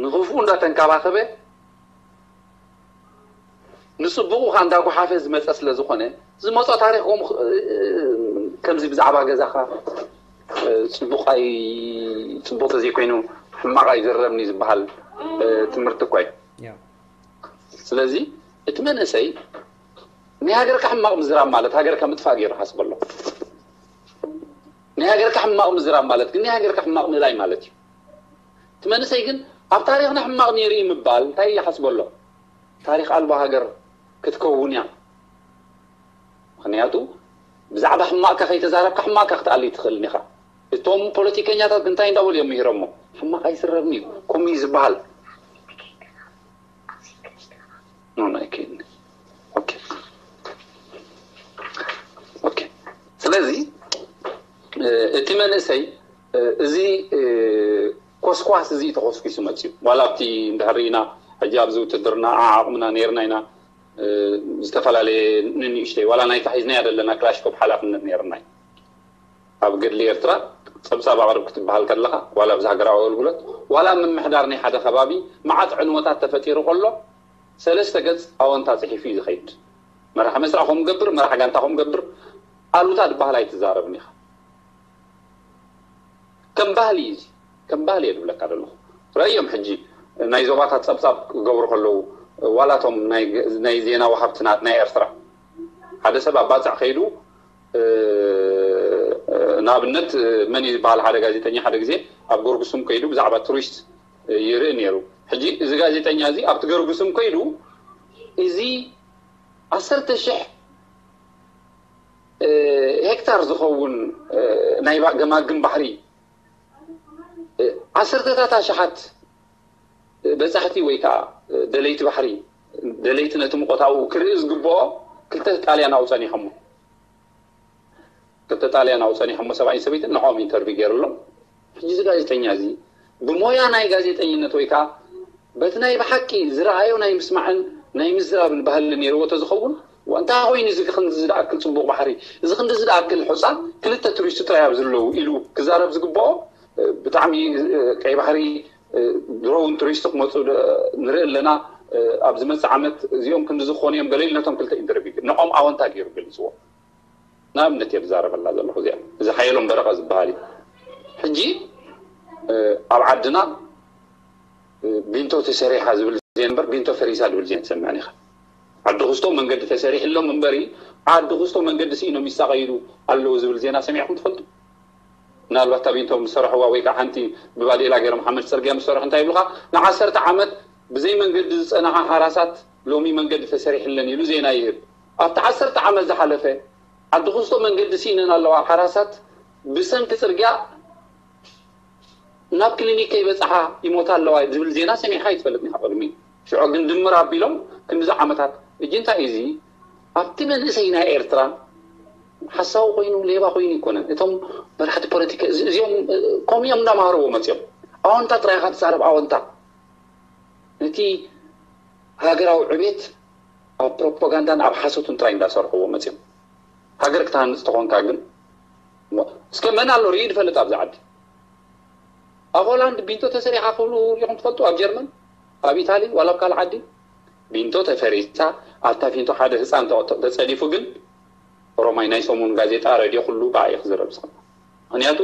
ንኽፉኡ እንዳተንካባኸበ ንፅቡቁ ከዓ እንዳጓሓፈ ዝመፀ ስለ ዝኾነ ዝመፆ ታሪክ ከምዚ ብዛዕባ ገዛካ ፅቡቅ ኣይ ፅቡቅ ተዘይኮይኑ ሕማቅ ኣይዝረብን እዩ ዝበሃል ትምህርቲ እኳ እዩ ስለዚ እቲ መንእሰይ ናይ ሃገርካ ሕማቅ ምዝራብ ማለት ሃገርካ ምጥፋእ ገይሩ ሓስበሎ ናይ ሃገርካ ሕማቅ ምዝራብ ማለት ግን ናይ ሃገርካ ሕማቅ ምእላይ ማለት እዩ እቲ መንእሰይ ግን ኣብ ታሪኽና ሕማቕ ነይሩ እዩ ምባል እንታይ ይሓስበሎ? ታሪኽ ኣልቦ ሃገር ክትከውን እያ። ምኽንያቱ ብዛዕባ ሕማቕካ ከይተዛረብካ ሕማቕካ ክትኣልይ ትኽእልን ኢኻ። እቶም ፖለቲከኛታት እንታይ እንዳበሉ እዮም ምሂሮሞ? ሕማቕ ኣይስረብን እዩ። ከምኡ እዩ ዝበሃል። ኖ ኖ ኣይክእልን። ኦኬ ኦኬ ስለዚ እቲ መንእሰይ እዚ ኮስኳስ እዚ ተኾስኪሱ መፅዩ ዋላ ኣብቲ እንድሕር ኢና ሕጂ ኣብዚ ውትድርና ዓዓቕምና ነይርና ኢና ዝተፈላለየ ንንእሽተይ ዋላ ናይታ ሒዝናያ ዘለና ክላሽኮፕ ሓላፍነት ነይርና እዩ ኣብ ገድሊ ኤርትራ ፀብፃብ ኣቕርብ ክትበሃል ከለኻ ዋላ ኣብዚ ሃገራዊ ኣገልግሎት ዋላ ምምሕዳር ናይ ሓደ ከባቢ መዓት ዕንወታት ተፈጢሩ ከሎ ሰለስተ ገፅ ኣወንታ ፅሒፉ እዩ ዝኸይድ መራሕ መስርዕ ከምኡ ገብር መራሕ ጋንታ ከምኡ ገብር ኣሉታ ዝበሃል ኣይትዛረብን ኢኻ ከም ባህሊ እዩ ከም ባህሊ እየ ዝብለካ ዘለኹ ረእዮም ሕጂ ናይ ዞባታት ፀብፃብ ክገብሩ ከለዉ ዋላቶም ናይ ዜና ወሃብትናት ናይ ኤርትራ ሓደ ሰብ ኣብ ባፅዕ ከይዱ ንኣብነት መን እዩ ዝበሃል ሓደ ጋዜጠኛ ሓደ ግዜ ኣብ ጎርጉሱም ከይዱ ብዛዕባ ቱሪስት ይርኢ ነይሩ ሕጂ እዚ ጋዜጠኛ እዚ ኣብቲ ገርጉስም ከይዱ እዚ ዓሰርተ ሽሕ ሄክታር ዝኸውን ናይ ገማግም ባሕሪ ዓሰርተታት ኣሽሓት በፃሕቲ ወይ ከዓ ደለይቲ ባሕሪ ደለይቲ ነቲ ሙቆታዊ ክርኢ ዝግብኦ ክልተ ጣልያን ኣውፀኒሖሞ ክልተ ጣልያን ኣውፀኒሖሞ ሰብኣይን ሰበይትን ንዕኦም ኢንተርቪ ገይርሎም ሕጂ እዚ ጋዜጠኛ እዚ ብሞያ ናይ ጋዜጠኝነት ወይ ከዓ በቲ ናይ ብሓቂ ዝረኣዮ ናይ ምስማዕን ናይ ምዝራብን ባህሊ ነይርዎ ተዝኸውን እንታይ ኮይኑ እዚ ክንዚ ዝኣክል ፅቡቅ ባሕሪ እዚ ክንዲ ዝኣክል ሑፃ ክልተ ቱሪስት ጥራይ ኣብ ዝለዉ ኢሉ ክዛረብ ዝግብኦ ብጣዕሚ ቀይ ባሕሪ ድሮ እውን ቱሪስት ክመፁ ንርኢ ኣለና ኣብ ዝመፅእ ዓመት እዚኦም ክንዲ ዝኾኑ እዮም ገለ ኢሉ ነቶም ክልተ ኢንተርቪው ንቆም ኣወንታ ገይሩ ገሊፅዎ ንኣብነት እየ ዝዛረበላ ዘለኹ እዚኣ እዚ ሓየሎም በረቐ ዝበሃል እዩ ሕጂ ኣብ ዓድና ቢንቶ ተሰሪሓ ዝብል ዜና እምበር ቢንቶ ፈሪሳ ዝብል ዜና ትሰምዕን ኢኻ ዓዲ ክስቶ መንገዲ ተሰሪሕሎም እምበሪ ዓዲ ክስቶ መንገዲ ስኢኖም ይሳቐይሉ ኣለዉ ዝብል ዜና ሰሚዕኩም ትፈልጡ ምናልባት እታ ቢንቶ ምስ ሰርሕዋ ወይ ከዓ ሓንቲ ብባዴላ ገይሮም ሓመድ ፅርግያ ምስ ሰርሑ እንታይ ይብሉኻ ንዓሰርተ ዓመት ብዘይ መንገዲ ዝፀንሓ ሓራሳት ሎሚ መንገዲ ተሰሪሕለን ኢሉ ዜና ይህብ ኣብቲ ዓሰርተ ዓመት ዝሓለፈ ዓዲ ክስቶ መንገዲ ስኢነን ኣለዋ ሓራሳት ብሰንኪ ፅርግያ ናብ ክሊኒክ ከይበፅሓ ይሞታ ኣለዋ ዝብል ዜና ሰሚዕካ ይትፈልጥ ኒካ ቅድሚ ሽዑ ግን ድምር ኣቢሎም ክንዲዚ ዓመታት እጂ እንታይ እዚ ኣብቲ መንእሰይ ናይ ኤርትራ ሓሳዊ ኮይኑ ሌባ ኮይኑ ይኮነን እቶም መራሕቲ ፖለቲካ እዚኦም ከምኡ እዮም እንዳማሃርዎ መፅኦም ኣወንታ ጥራይ ኢካ ትዛረብ ኣወንታ ነቲ ሃገራዊ ዕቤት ኣብ ፕሮፓጋንዳን ኣብ ሓሶትን ጥራይ እንዳሰርሕዎ መፅኦም ሃገር ክትሃንፅ ተኾንካ ግን እስከ መን ኣሎ ርኢ ዝፈልጥ ኣብዚ ዓዲ ኣብ ሆላንድ ቢንቶ ተሰሪሓ ክብሉ ሪኹም ትፈልጡ? ኣብ ጀርመን፣ ኣብ ኢታሊ፣ ዋላ ኣብ ካልእ ዓዲ ቢንቶ ተፈሪሳ፣ ኣብታ ቢንቶ ሓደ ህፃን ተቐ-፣ ተፀዲፉ ግን ሮማይ ናይ ሰሙን ጋዜጣ፣ ረድዮ፣ ኩሉ ብኣ እዩ ክዝረብ ዝኸ-፣ ምኽንያቱ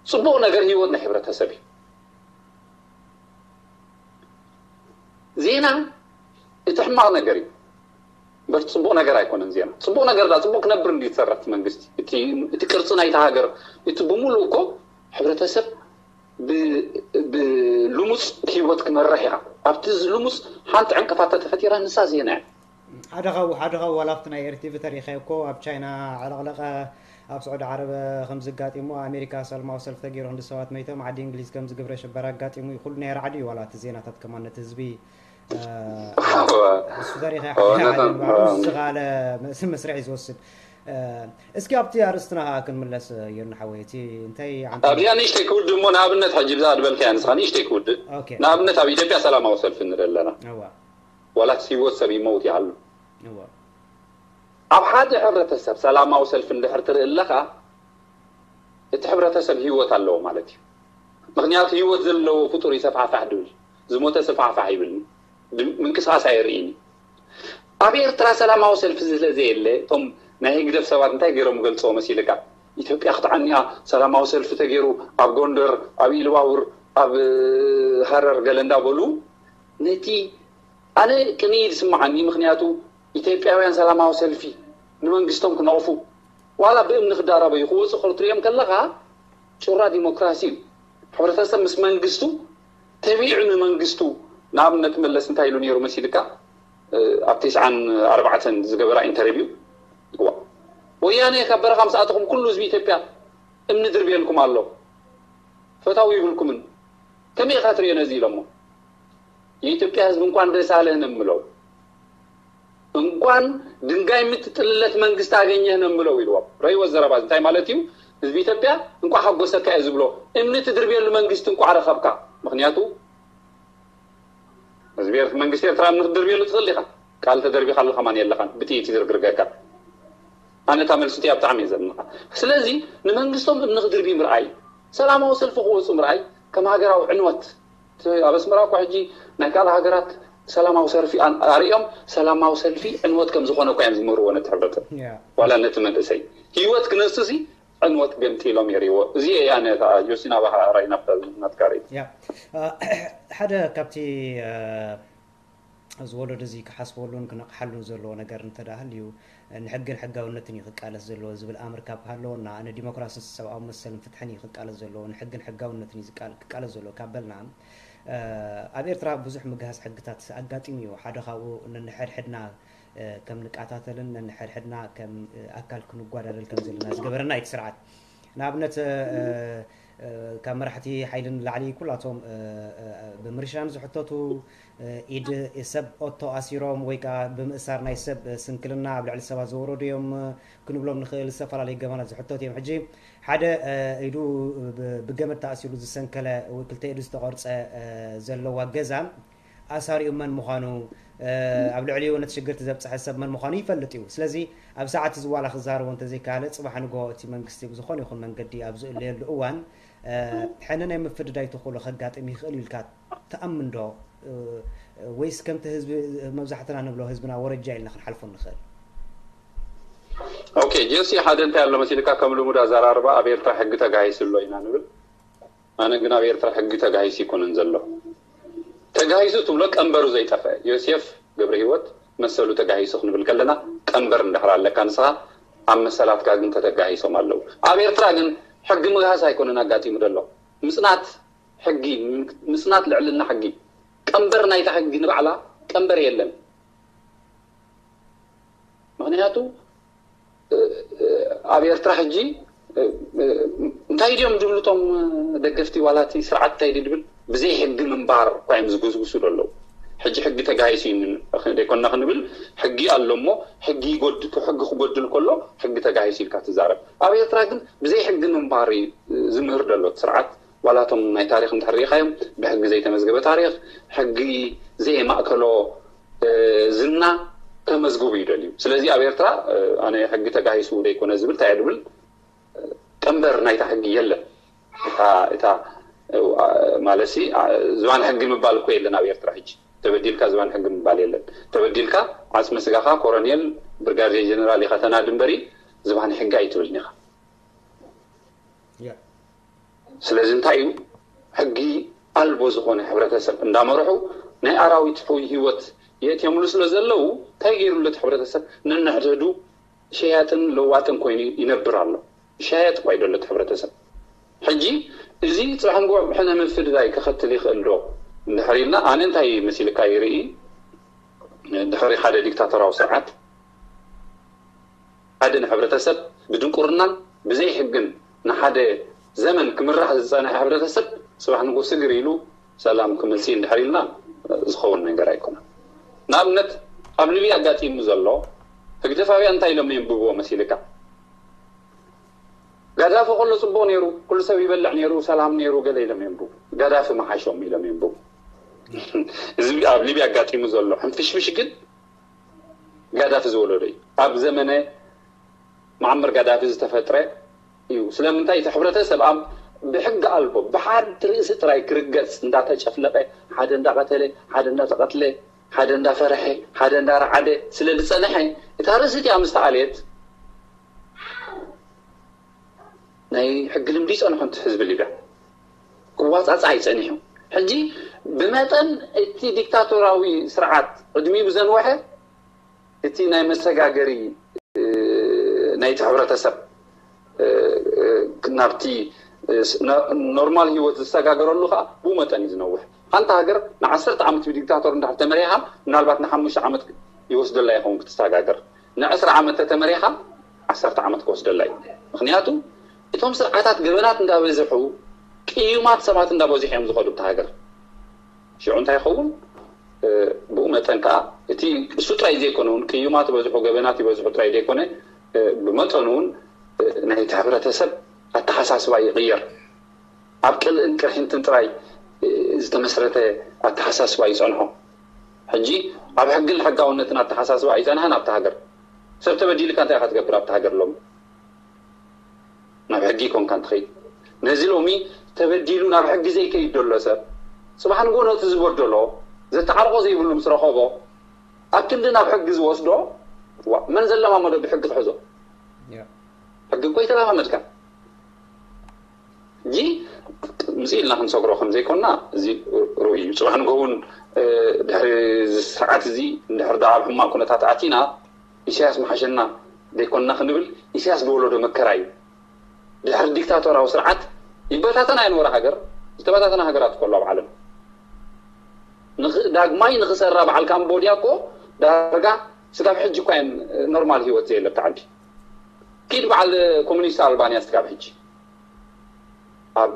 ፅቡቕ ነገር ህይወት ናይ ሕብረተሰብ እዩ። ዜና እቲ ሕማቕ ነገር እዩ። እምበር ጽቡቕ ነገር ኣይኮነን ዜና። ጽቡቕ ነገር ዳ ጽቡቕ ክነብር እንዲ ዝሰርሕ እቲ መንግስቲ። እቲ፣ እቲ ቅርጺ ናይታ ሃገር፣ እቲ ብምሉእ እኮ ሕብረተሰብ ብ-፣ ብልሙጽ ህይወት ክመርሕ እያ። ኣብቲ ልሙጽ ሓንቲ ዕንቅፋት ተተፈጢራ ንሳ ዜና እያ። ሓደ ካብኡ፣ ሓደ ካብኡ ዋላ ኣብቲ ናይ ኤርቲቪ ተሪኸዮ እኮ ኣብ ቻይና ዕለቕለቐ፣ ኣብ ስዑዲ ዓረብ ከም ዝጋጢሙ፣ ኣሜሪካ ሰላማዊ ሰልፊ ተገይሩ ክንዲ ሰባት መይቶም፣ ዓዲ እንግሊዝ ከም ዝግብረ ሽበራ ኣጋጢሙ እዩ። ኩሉ ናይ ራዕዲ እዩ ዋላ እቲ ዜናታት ከማን ነቲ ህዝቢ፣ እ፣ እሱ ተሪኸ እወ፣ ሓደ ነቶም፣ ሓደ እወ። ዝኻለ መስ-፣ መስርሕ እዩ ዝወስድ። እ፣ እስኪ ኣብቲ ኣርእስትና ከዓ ክንምለስ፣ ዮኒ ሓወይ፣ እቲ እንታይ ዓንተ ኣብዚኣ ንእሽተይ ክውድእ እሞ፣ ንኣብነት ሕጂ ብዛ ዝበልካያ ንስኻ ንእሽተይ ክውድእ። ኦኬ። ንኣብነት ኣብ ኢትዮጵያ ሰላማዊ ሰልፊ ንርኢ ኣለና። እወ። ዋላ ህይወት ሰብ ይመውት ይሃሉ። እወ። ኣብ ሓደ ሕብረተሰብ ሰላማዊ ሰልፊ እንድሕር ትርኢ ኣለኻ፣ እቲ ሕብረተሰብ ህይወት ኣለዎ ማለት እዩ። ምኽንያቱ ህይወት ዘለዎ ፍጡር እዩ ሰፋሕፋሕ ድብል፣ ዝሞተ ሰፋሕፋሕ ይብል። ድ-፣ ምንቅስቓስ ኣየርእይን እዩ። ኣብ ኤርትራ ሰላማዊ ሰልፊ ስለ ዘየለ፣ እቶም ናይ ህግደፍ ሰባት እንታይ ገይሮም ገልጽዎ መሲልካ? ኢትዮጵያ ክትዓኒ እያ፣ ሰላማዊ ሰልፊ ተገይሩ፣ ኣብ ጎንደር፣ ኣብ ኢሉባቡር፣ ኣብ ሃረር ገለ እንዳበሉ፣ ነቲ ኣነ ቅንኢ ዝስምዓኒ፣ ምኽንያቱ ኢትዮጵያውያን ሰላማዊ ሰልፊ ንመንግስቶም ክነቕፉ፣ ዋላ ብእምኒ ክዳረበዩ ክወፁ ክትሪኦም ከለኻ፣ ጩራ ዲሞክራሲ እዩ። ሕብረተሰብ ምስ መንግስቱ ተቢዑ ንመንግስቱ፣ ንኣብነት መለስ እንታይ ኢሉ ነይሩ መሲልካ? እ፣ ኣብ ተስዓን ኣርባዕተን ዝገበራ ኢንተርቪው፣ እዋ፣ ወያነ ካብ በረኻ ምስ ኣተኹም ኩሉ ህዝቢ ኢትዮጵያ እምኒ ድርብየልኩም ኣሎ፣ ፈታዊ ይብልኩምን። ከመይ ኢኻ ትሪኦ ነዚ ኢሎሞ? የኢትዮጵያ ህዝቢ እንኳን ደስ ኣለህ ነው የምለው። እንኳን ድንጋይ የምትጥልለት መንግስት አገኘህ ነው የምለው ኢልዎም። ረይወ ዘረባ እንታይ ማለት እዩ? ህዝቢ ኢትዮጵያ እንኳን ሓጎሰካ እየ ዝብሎ። እምኒ ትድርብየሉ መንግስት እንኳን ረኸብካ። ምኽንያቱ ህዝቢ ኤርትራ፣ መንግስቲ ኤርትራ እምኒ ክትድርብየሉ ትኽእል ኢኻ። ቃል ተደርቢኻሉ ከማን የለኻን። ብጥይት ይዝርግርገካ። ኣነ እታ መልሲ እቲኣ ብጣዕሚ እየ ዘድንቓ። ስለዚ ንመንግስቶም እምኒ ክድርቢ ምርኣይ፣ ሰላማዊ ሰልፊ ክወፁ ምርኣይ ከም ሃገራዊ ዕንወት። እቲ ኣብ ኣስመራ እኮ ሕጂ ናይ ካልእ ሃገራት ሰላማዊ ሰልፊ ኣን-፣ ኣርእዮም ሰላማዊ ሰልፊ ዕንወት ከም ዝኾነ እኮ እዮም ዝምህርዎ ነቲ ሕብረተሰብ። ያ። ዋላ ነቲ መንእሰይ ህይወት ክነስሲ ዕንወት ገምጢሎም የርእይዎ። እዚ እየ ኣነ እታ ጆሲና ባህራይ ናብታ ናትካ ርእይቶ። ያ። እ፣ ሓደ ካብቲ፣ እ፣ እዚ ወለዶ እዚ ክሓስበሉን ክነቕሓሉን ዘለዎ ነገር እንተ ደኣ ሃልዩ፣ ንሕግን ሕጋውነትን እዩ ክቃለስ ዘለዎ ዝብል ኣምር ካብ ሃለወና፣ ንዲሞክራስን ሰብኣዊ መሰልን ፍትሕን እዩ ክቃለስ ዘለዎ፣ ንሕግን ሕጋውነትን እዩ ዝቃል-፣ ክቃለስ ዘለዎ ካብ በልና፣ እ፣ ኣብ ኤርትራ ብዙሕ ምግሃስ ሕግታት ኣጋጢሙ እዩ። ሓደ ካብኡ ነንሕድሕድና፣ እ፣ ከም ንቃታተልን ነንሕድሕድና ከም፣ እ፣ ኣካል ክንጓዳደል ከም ዘለና ዝገበረና እዩ እቲ ስርዓት። ንኣብነት፣ እ፣ እ፣ ካብ መራሕቲ ሓይሊ ንላዕሊ ኩላቶም፣ እ፣ እ፣ ብምርሻን ዝሕተቱ፣ እ፣ ኢድ ሰብ ኦቶ ኣሲሮም ወይ ከዓ ብምእሳር ናይ ሰብ ስንክልና ኣብ ልዕሊ ሰባት ዘወረዱ እዮም ክንብሎም ንኽእል። ዝተፈላለዩ ገበናት ዝሕተቱ እዮም። ሕጂ ሓደ፣ እ፣ ኢዱ ብ-፣ ብገመድ ተኣሲሩ ዝሰንከለ ወይ ክልተ ኢዱ ዝተቖርጸ፣ እ፣ ዘለዋ ገዛ ኣሳሪኡ መን ምዃኑ፣ እ፣ ኣብ ልዕሊኡ ነቲ ሽግርቲ ዘብጽሐ ሰብ መን ምዃኑ ይፈልጥ እዩ። ስለዚ ኣብ ሰዓት እዚ ዋላ ክዛረቦ እንተዘይከኣለ፣ ጽባሕ ንግሆ እቲ መንግስቲ ብዝኾነ ይኹን መንገዲ ኣብ ዝእለየሉ እዋን፣ እ፣ ሕነ ናይ ምፍድዳይ ተኽእሎ ከጋጥም ይኽእል እዩ ኢልካ ትኣምን ዶ? እ፣ ወይስ ከምቲ ህዝቢ፣ መብዛሕትና ንብሎ ህዝብና ወረጃ ኢልና ክንሓልፎ ንኽእል? ኦኬ፣ ጀሲ፣ ሓደ እንታይ ኣሎ መሲልካ፣ ከም ልሙድ ኣዘራርባ ኣብ ኤርትራ ሕጊ ተጋሂሱ ኣሎ ኢና ንብል። ኣነ ግን ኣብ ኤርትራ ሕጊ ተጋሂሱ ኣይኮነን ዘሎ። ተጋሂሱ ትብሎ ቀንበሩ ዘይጠፍአ። ዮሴፍ ገብረ ህይወት መሰሉ ተጋሂሱ ክንብል ከለና ቀንበር እንድሕር ኣለካ ንስኻ ኣብ መሰላትካ ግን ተተጋሂሶም ኣለዉ። ኣብ ኤርትራ ግን ሕጊ ምግሃስ ኣይኮነን ኣጋጢሙ ዘሎ። ምጽናት ሕጊ፣ ምጽናት ልዕልና ሕጊ። ቀንበር ናይታ ሕጊ ንባዕላ ቀንበር የለን። ምኽንያቱ፣ እ፣ እ፣ ኣብ ኤርትራ ሕጂ፣ እ፣ እ፣ እንታይ ድዮም ዝብሉ እቶም ደገፍቲ ዋላ እቲ ስርዓት እንታይ ድዩ ዝብል? ብዘይ ሕጊ ምንባር እኳ እዮም ዝጉስጉሱ ዘለዉ። ሕጂ ሕጊ ተጋሂሱ እዩ ን-፣ ደይኮንና ክንብል፣ ሕጊ ኣሎ እሞ፣ ሕጊ ይጎድ-፣ ሕጊ ክጎድል ከሎ፣ ሕጊ ተጋሂሱ ኢልካ ትዛረብ። ኣብ ኤርትራ ግን ብዘይ ሕጊ ምንባር እዩ ዝምህር ዘሎ እቲ ስርዓት። ዋላ እቶም ናይ ታሪኽ እንድሕር ርኢኻዮም፣ ብሕጊ ዘይተመዝገበ ታሪኽ፣ ሕጊ ዘየማእከሎ፣ እ፣ ዝና ከመዝግቡ ይደልዩ። ስለዚ ኣብ ኤርትራ፣ እ፣ ኣነ ሕጊ ተጋሂሱ ደይኮነ ዝብል እንታይ እየ ድብል፣ እ፣ ቀንበር ናይታ ሕጊ የለን። እታ እታ ማለት ሲ ዝባን ሕጊ ምባል እኮ የለን ኣብ ኤርትራ ሕጂ። ተበዲልካ ዝባን ሕጊ ምባል የለን። ተበዲልካ ዓጽሚ ስጋኻ ኮረኔል ብርጋዴር ጀነራል ኢኻ ተናዲ እምበሪ ዝባን ሕጊ ኣይትብልን ኢኻ። ስለዚ እንታይ እዩ ሕጊ ኣልቦ ዝኾነ ሕብረተሰብ እንዳመርሑ ናይ ኣራዊት ሕዊ ህይወት የእትየምሉ ስለ ዘለዉ እንታይ ገይሩሉ እቲ ሕብረተሰብ ነንሕድሕዱ ሸያጥን ለዋጥን ኮይኑ ይነብር ኣሎ። ሸያጥ እኳ ይደሎ እቲ ሕብረተሰብ። ሕጂ እዚ ጽባሕ ንግሆ ሕነ ምፍድዳይ ከኸትል ይኽእል ዶ እንድሕር ኢልና ኣነ እንታይ መሲልካ ይርኢ ድሕሪ ሓደ ዲክታቶራዊ ስርዓት ሓደ ንሕብረተሰብ ብድንቁርናን ብዘይ ሕግን ንሓደ ዘመን ክምራሕ ዝጸንሐ ሕብረተሰብ ጽባሕ ንግሆ ስግር ኢሉ ሰላም ክመጽእ እንድሕር ኢልና ዝኸውን ነገር ኣይኮነን። ንኣብነት ኣብ ሊብያ ኣጋጢሙ ዘሎ ህግደፋውያን እንታይ ኢሎም የንብብዎ መሲልካ? ጋዳፊ ከሎ ጽቡቕ ነይሩ፣ ኩሉ ሰብ ይበልዕ ነይሩ፣ ሰላም ነይሩ ገለ ኢሎም የንብቡ። ጋዳፊ መሓሾም ኢሎም የንብቡ። እዚ ኣብ ሊብያ ኣጋጢሙ ዘሎ ሕንፍሽፍሽ ግን ጋዳፊ ዝወለዶ እዩ። ኣብ ዘመነ መዓመር ጋዳፊ ዝተፈጥረ እዩ። ስለምንታይ እቲ ሕብረተሰብ ኣብ ብሕጊ ኣልቦ ብሓንቲ ርእሲ ጥራይ ክርገጽ እንዳተጨፍለቐ ሓደ እንዳቐተለ ሓደ እንዳተቐትለ ሓደ እንዳፈረሐ ሓደ እንዳረዓደ ስለ ዝጸንሐ እታ ርእሲ እቲኣ ምስ ተኣልየት ናይ ሕጊ ልምዲ ይጸንሖ እቲ ህዝቢ ሊብያ ክዋጻጻ ኣይጸኒሑ። ሕጂ ብመጠን እቲ ዲክታቶራዊ ስርዓት ዕድሚኡ ብዘንወሐ እቲ ናይ መሰጋገሪ ናይቲ ሕብረተሰብ ናብቲ ኖርማል ህይወት ዝሰጋገረሉ ከዓ ብኡ መጠን እዩ ዝነውሕ። ሓንቲ ሃገር ንዓሰርተ ዓመት ብዲክታቶር እንድሕር ተመሪሓ ምናልባት ንሓሙሽተ ዓመት ይወስደላ ይኸውን ክትሰጋገር። ንዕስራ ዓመት ተተመሪሓ ዓሰርተ ዓመት ክወስደላ እዩ። ምክንያቱ እቶም ስርዓታት ገበናት እንዳበዝሑ ቅዩማት ሰባት እንዳበዝሑ እዮም ዝኸዱ ብቲ ሃገር። ሽዑ እንታይ ይኸውን? ብኡ መጠን ከዓ እቲ እሱ ጥራይ ዘይኮነ እውን ቅዩማት ይበዝሑ ገበናት ይበዝሑ ጥራይ ዘይኮነ ብመጠኑ እውን ናይቲ ሕብረተሰብ ኣተሓሳስባ ይቕየር። ኣብ ቅልእን ቅርሕንትን ጥራይ ዝተመስረተ ኣተሓሳስባ ይጸንሖ። ሕጂ ኣብ ሕግን ሕጋውነትን ኣተሓሳስባ ኣይጸንሐን ኣብቲ ሃገር። ሰብ ተበዲልካ እንታይ ኢኻ ትገብር ኣብቲ ሃገር ሎም ናብ ሕጊ ይኮንካ እንትኸይድ ነዚ ሎሚ ተበዲሉ ናብ ሕጊ ዘይከይድ ዘሎ ሰብ ጽባሕ ንግሆ ነቲ ዝበደሎ ዘተዓርቆ ዘይብሉ ምስ ረኸቦ ኣብ ክንዲ ናብ ሕጊ ዝወስዶ ዋ መን ዘለማመዶ ብሕጊ ክሕዞ ሕጊ እኮ ይተለማመድካ እንጂ ምጽእ ኢልና ክንሰግሮ ከም ዘይኮንና እዚ ርኡይ እዩ። ጽባሕ ንግሆ እውን ድሕሪ እዚ ስርዓት እዚ እንድሕር ደኣ ኣብ ሕማቕ ኩነታት ኣቲና ኢሳያስ ምሓሸና ዘይኮንና ክንብል ኢሳያስ ዝወለዶ መከራ እዩ። ድሕሪ ዲክታቶራዊ ስርዓት ይበታተና የንበረ ሃገር ዝተበታተና ሃገራት እኮ ኣሎ ኣብ ዓለም ዳግማይ ንክሰራ በዓል ካምቦድያ እኮ ዳርጋ ስጋብ ሕጂ እኳ እየን ኖርማል ህይወት ዘየለ ኣብቲ ዓዲ ኪድ በዓል ኮሙኒስት ኣልባንያ ስጋብ ሕጂ ኣብ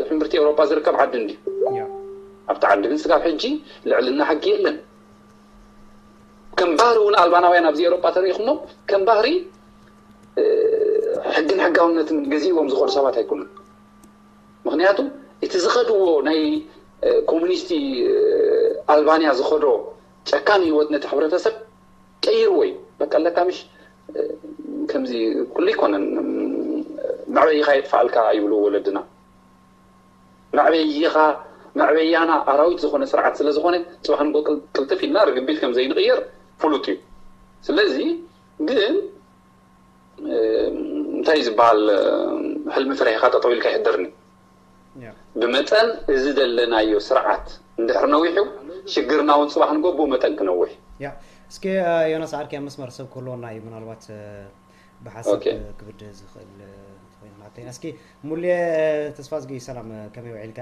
ሕምብርቲ ኤውሮጳ ዝርከብ ዓዲ እንዲ ኣብቲ ዓዲ ግን ስጋብ ሕጂ ልዕልና ሕጊ የለን ከም ባህሪ እውን ኣልባናውያን ኣብዚ ኤውሮጳ ተሪኢኹሞ ከም ባህሪ ሕግን ሕጋውነትን ገዚእዎም ዝኸዱ ሰባት ኣይኮኑን ምክንያቱ እቲ ዝኸድዎ ናይ ኮሙኒስቲ ኣልባንያ ዝኸዶ ጨካን ህይወት ነቲ ሕብረተሰብ ቀይርዎ እዩ በቃ ኣለካ ምሽ ከምዚ ኩሉ ይኮነን መዕበይኻ የጥፋኣልካ ይብሉ ወለድና መዕበይኻ መዕበያና ኣራዊት ዝኾነ ስርዓት ስለ ዝኾነ ጽባሕ ንጎ ቅልጥፍ ኢልና ርግቢት ከም ዘይንቕየር ፍሉጥ እዩ ስለዚ ግን እንታይ ዝበሃል ሕልሚ ፍርሒኻ ጠጠው ኢልካ ይሕደርኒ ብመጠን እዚ ዘለናዮ ስርዓት እንድሕር ነዊሑ ሽግርና እውን ፅባሕ ንጎ ብኡ መጠን ክነውሕ ያ እስኪ ዮናስ ዓርኪ ኣብ መስመር ሰብ ክህልወና እዩ ምናልባት ብሓሳብ ክብድ ዝኽእል ኮይኑ ናተይና እስኪ ሙሌ ተስፋ ዝጊ ሰላም ከመይ ውዒልካ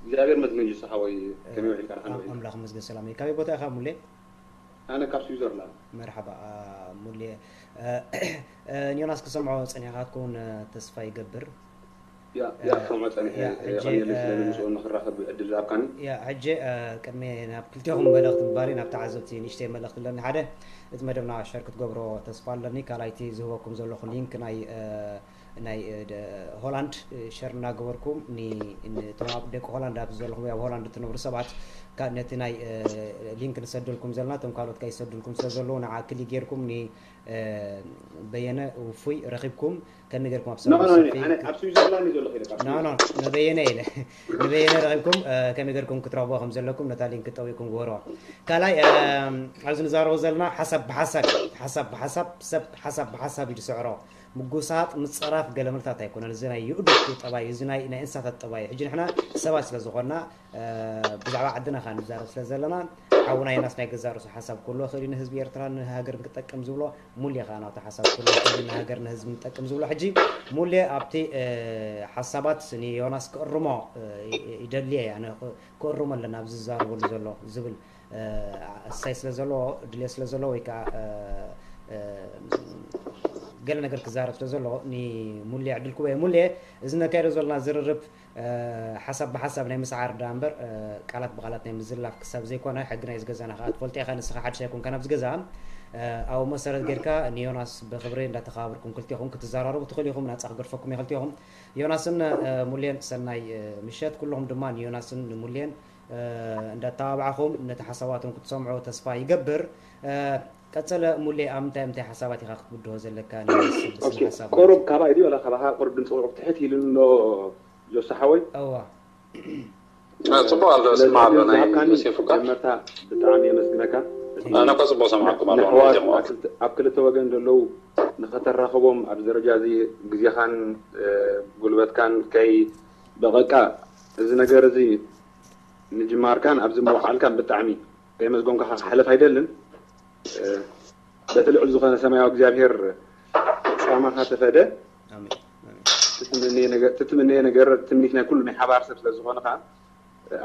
እግዚኣብሔር መስገን ጅሱ ሓወይ ከመይ ውዒልካ ንሓን ኣምላኽ መስገን ሰላም እዩ ካበይ ቦታ ኢኻ ሙሌ ኣነ ካብ ስዊዘርላንድ። መርሓባ ሙሌ ንዮናስ ክሰምዖ ጸኒሕካ ክትከውን ተስፋ ይገብር። ያ ያ ክሰምዖ ጸኒሐ ቀኒለይ ስለ ምስኡ ንኽራኸብ ዕድል ዝሃብካኒ። ያ ሕጂ ቅድሚ ናብ ክልቴኹም መልእኽቲ ምባሪ ናብ ተዓዘብቲ ንእሽተይ መልእኽቲ ኣለኒ ሓደ እቲ መደብና ሸር ክትገብሮ ተስፋ ኣለኒ ካልኣይቲ ዝህበኩም ዘለኹ ሊንክ ናይ ናይ ሆላንድ ሸር እናገበርኩም ንቶም ኣብ ደቂ ሆላንድ ኣብ ዘለኹም ኣብ ሆላንድ እትነብሩ ሰባት ነቲ ናይ ሊንክ ንሰደልኩም ዘለና እቶም ካልኦት ከይሰዱልኩም ስለ ዘለዉ ንዓ ክሊ ጌርኩም ንበየነ ውፉይ ረኺብኩም ከመይ ጌርኩም ኣብ ኖ ሰማይ ኖ ሰፊ ኣነ ኣብ ስዊዘርላንድ እዩ ዘለኹ ኢለ ካብ ኖ ኖ ንበየነ ኢለ ንበየነ ረኺብኩም ከመይ ጌርኩም ክትረኽቦ ከም ዘለኩም ነታ ሊንክ ጠዊቅኩም ግበርዋ። ካልኣይ ኣብዚ ንዛረቦ ዘለና ሓሳብ ብሓሳብ ሓሳብ ብሓሳብ ሰብ ሓሳብ ብሓሳብ እዩ ዝስዕሮ። ምጉሳጥ ምፅራፍ ገለ ምልታት ኣይኮነን። እዚ ናይ የእዱግ ጠባይ እዩ። እዚ ናይ ናይ እንስሳታት ጠባይ እዩ። ሕጂ ንሕና ሰባት ስለ ዝኾንና ብዛዕባ ዓድና ከኣ ንዛረብ ስለ ዘለና ሓውና ዮናስ ናይ ገዛእ ርእሱ ሓሳብ ክህልዎ ይኽእል እዩ ንህዝቢ ኤርትራ ንሃገር ክጠቅም ዝብሎ ሙሌ ከኣ ናቱ ሓሳብ ክህልዎ ይኽእል እዩ ንሃገር ንህዝቢ ንጠቅም ዝብሎ። ሕጂ ሙሌ ኣብቲ ሓሳባት ንዮናስ ክእርሞ ይደሊ እየ ኣነ ክእርሞ ኣለና ኣብዚ ዝዛረበሉ ዘሎ ዝብል እሳይ ስለ ዘለዎ ድልየት ስለ ዘለዎ ወይ ከዓ ገለ ነገር ክዛረብ ስለ ዘለዎ ንሙሌ ዕድል ክቦ እየ። ሙሌ እዚ ነካይዶ ዘለና ዝርርብ ሓሳብ ብሓሳብ ናይ ምስዓር ዳ እምበር ቃላት ብቃላት ናይ ምዝላፍ ክሳብ ዘይኮነ ሕጊ ናይ ዝገዛና ከዓ ትፈልጦ ኢኻ ንስኻ ሓድሽ ኣይኮንካ ናብዚ ገዛ ኣብኡ መሰረት ጌርካ ንዮናስ ብክብሪ እንዳተኸባበርኩም ክልቴኹም ክትዘራረቡ ትኽእሉ ኢኹም ናፃ ክገድፈኩም እየ ክልቴኹም። ዮናስን ሙሌን ሰናይ ምሸት ኩልኹም ድማ ንዮናስን ንሙሌን እንዳተባባዕኹም ነቲ ሓሳባቶም ክትሰምዑ ተስፋ ይገብር። ቀጸለ ሙሌ ኣብ ምንታይ ምንታይ ሓሳባት ኢኻ ክትብድሆ ዘለካ ንስብ ብስነ ሓሳብ ቁሩብ ካባይ ድዩ ወላ ካባኻ ቁሩብ ድምፂ ቁሩብ ትሕት ኢሉ ኣሎ ጆሳ ሓወይ እዋ ጽቡቅ ኣሎ ስማ ኣሎ ናይ ዮሴፍ እኳ መጀመርታ ብጣዕሚ የመስግነካ ኣነ እኳ ጽቡቅ ሰምዓኩም ኣለኹ ንሕዋት ጀምዖ ኣብ ክልተ ወገን ዘለዉ ንኸተራኸቦም ኣብዚ ደረጃ እዚ ግዜኻን ጉልበትካን ከይ በቐቃ እዚ ነገር እዚ ምጅማርካን ኣብዚ ምውዓልካን ብጣዕሚ ከየመስገንኩኻ ክሓልፍ ኣይደልን። በቲ ልዑል ዝኾነ ሰማያዊ እግዚኣብሔር ጻማኻ ተፈደ። ኣሜን ኣሜን ትትምነየ ነገር ትትምነየ ነገር ትምኒት ናይ ኩሉ ናይ ሓባር ሰብ ስለ ዝኾነ ከዓ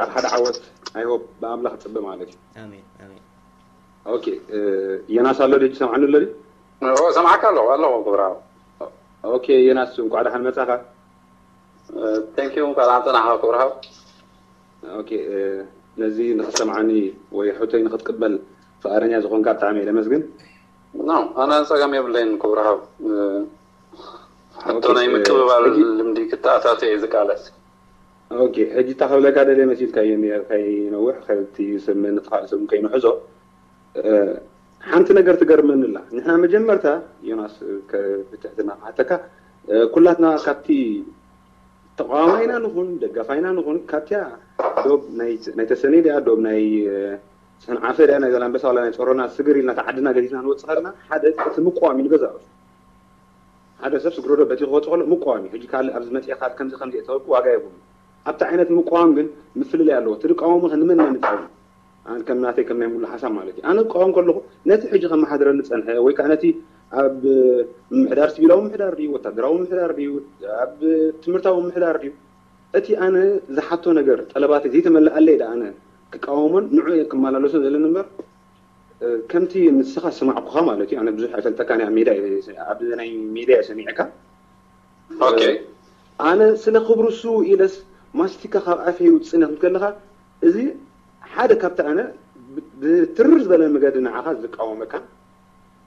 ኣብ ሓደ ዓወት ኣይሆፕ ብኣምላኽ ጽበ ማለት እዩ። ኣሜን ኣሜን ኦኬ ዮናስ ኣሎ ድዩ ትሰምዓኒ ኣሎ ድዩ? ኦ ሰምዓካ ኣለኹ ኣለኹ ክብራዊ ኦኬ ዮናስ እንኳዕ ደሓን መጻኻ። ቴንክ ዩ እንኳዕ ደሓን ጸናሕካ ክብራዊ ኦኬ ነዚ ንኽትሰምዓኒ ወይ ሕቶይ ንኽትቅበል ፍቓደኛ ዝኾንካ ብጣዕሚ እየ ለመስግን። ኖ ኣነ ጸገም የብለይን ክብራዊ ሕቶ ናይ ኦኬ፣ ምቅብባል ሕጂ ልምዲ ክተኣታተ እየ ዝቃለስ ኦኬ ሕጂ እታ ክብለካ ደልየ መሲልካዮ እኒአ ከይነውሕ ከቲ ስምኒ ተኻል ስም ከይንሕዞ እ፣ ሓንቲ ነገር ትገርመኒ ኣላ። ንሕና መጀመርታ ዮናስ ከ- ብትሕትና ክሓተካ እ፣ ኩላትና ካብቲ ተቃዋማይና ንኹን ደጋፋይና ንኹን ካብቲያ ዶብ ናይ ናይ ተሰነይ ድያ ዶብ ናይ እ፣ ሰንዓፈ ድያ ናይ ዛላንበሳ ዋላ ናይ ጾሮና ስግር ኢልና እታ ዓድና ገዲፍና ንወጽእ ከለና ሓደ እቲ ምቋም እዩ ንገዛእ ርእሱ ሓደ ሰብ ስግረዶ በቲ ክወጽእ ከሎ ምቋም እዩ። ሕጂ ካልእ ኣብዚ መጽኤ ካልእ ከምዚ ከምዚ እየ ተበልኩ ዋጋ የብሉን። ኣብቲ ዓይነት ምቋም ግን ምፍልላይ ኣለዎ። እቲ ዝቃወሞ ከ ንመን መን ይቃወም? ኣነ ከም ናተይ ከም ናይ ሙሉ ሓሳብ ማለት እዩ። ኣነ ክቃወም ከለኹ ነቲ ሕጂ ከመሓድረኒ ዝጸንሐ ወይ ከዓ ነቲ ኣብ ምምሕዳር ሲቪላዊ ምምሕዳር ድዩ ወታደራዊ ምምሕዳር ድዩ ኣብ ትምህርታዊ ምምሕዳር ድዩ እቲ ኣነ ዝሓቶ ነገር ጠለባተይ ዘይተመልኣለይ ደኣ ኣነ ክቃወሞን ንዑ እየ ክመላለሶ ዘለኒ እምበር ከምቲ ንስኻ ዝሰማዕኩኻ ማለት እዩ ኣነ ብዙሕ ኣይፈልጠካን እየ ኣብ ሜዳ እየ- ኣብ ናይ ሜዳ እየ ሰሚዕካ ኦኬ ኣነ ስለ ክብሩ እሱ ኢለስ ማስቲካ ካብ ኣፈይ ይውፅእ ነክብል ከለካ እዚ ሓደ ካብቲ ኣነ ብ- ብትርር ዝበለ መገዲ ንዓኻ ዝቃወመካ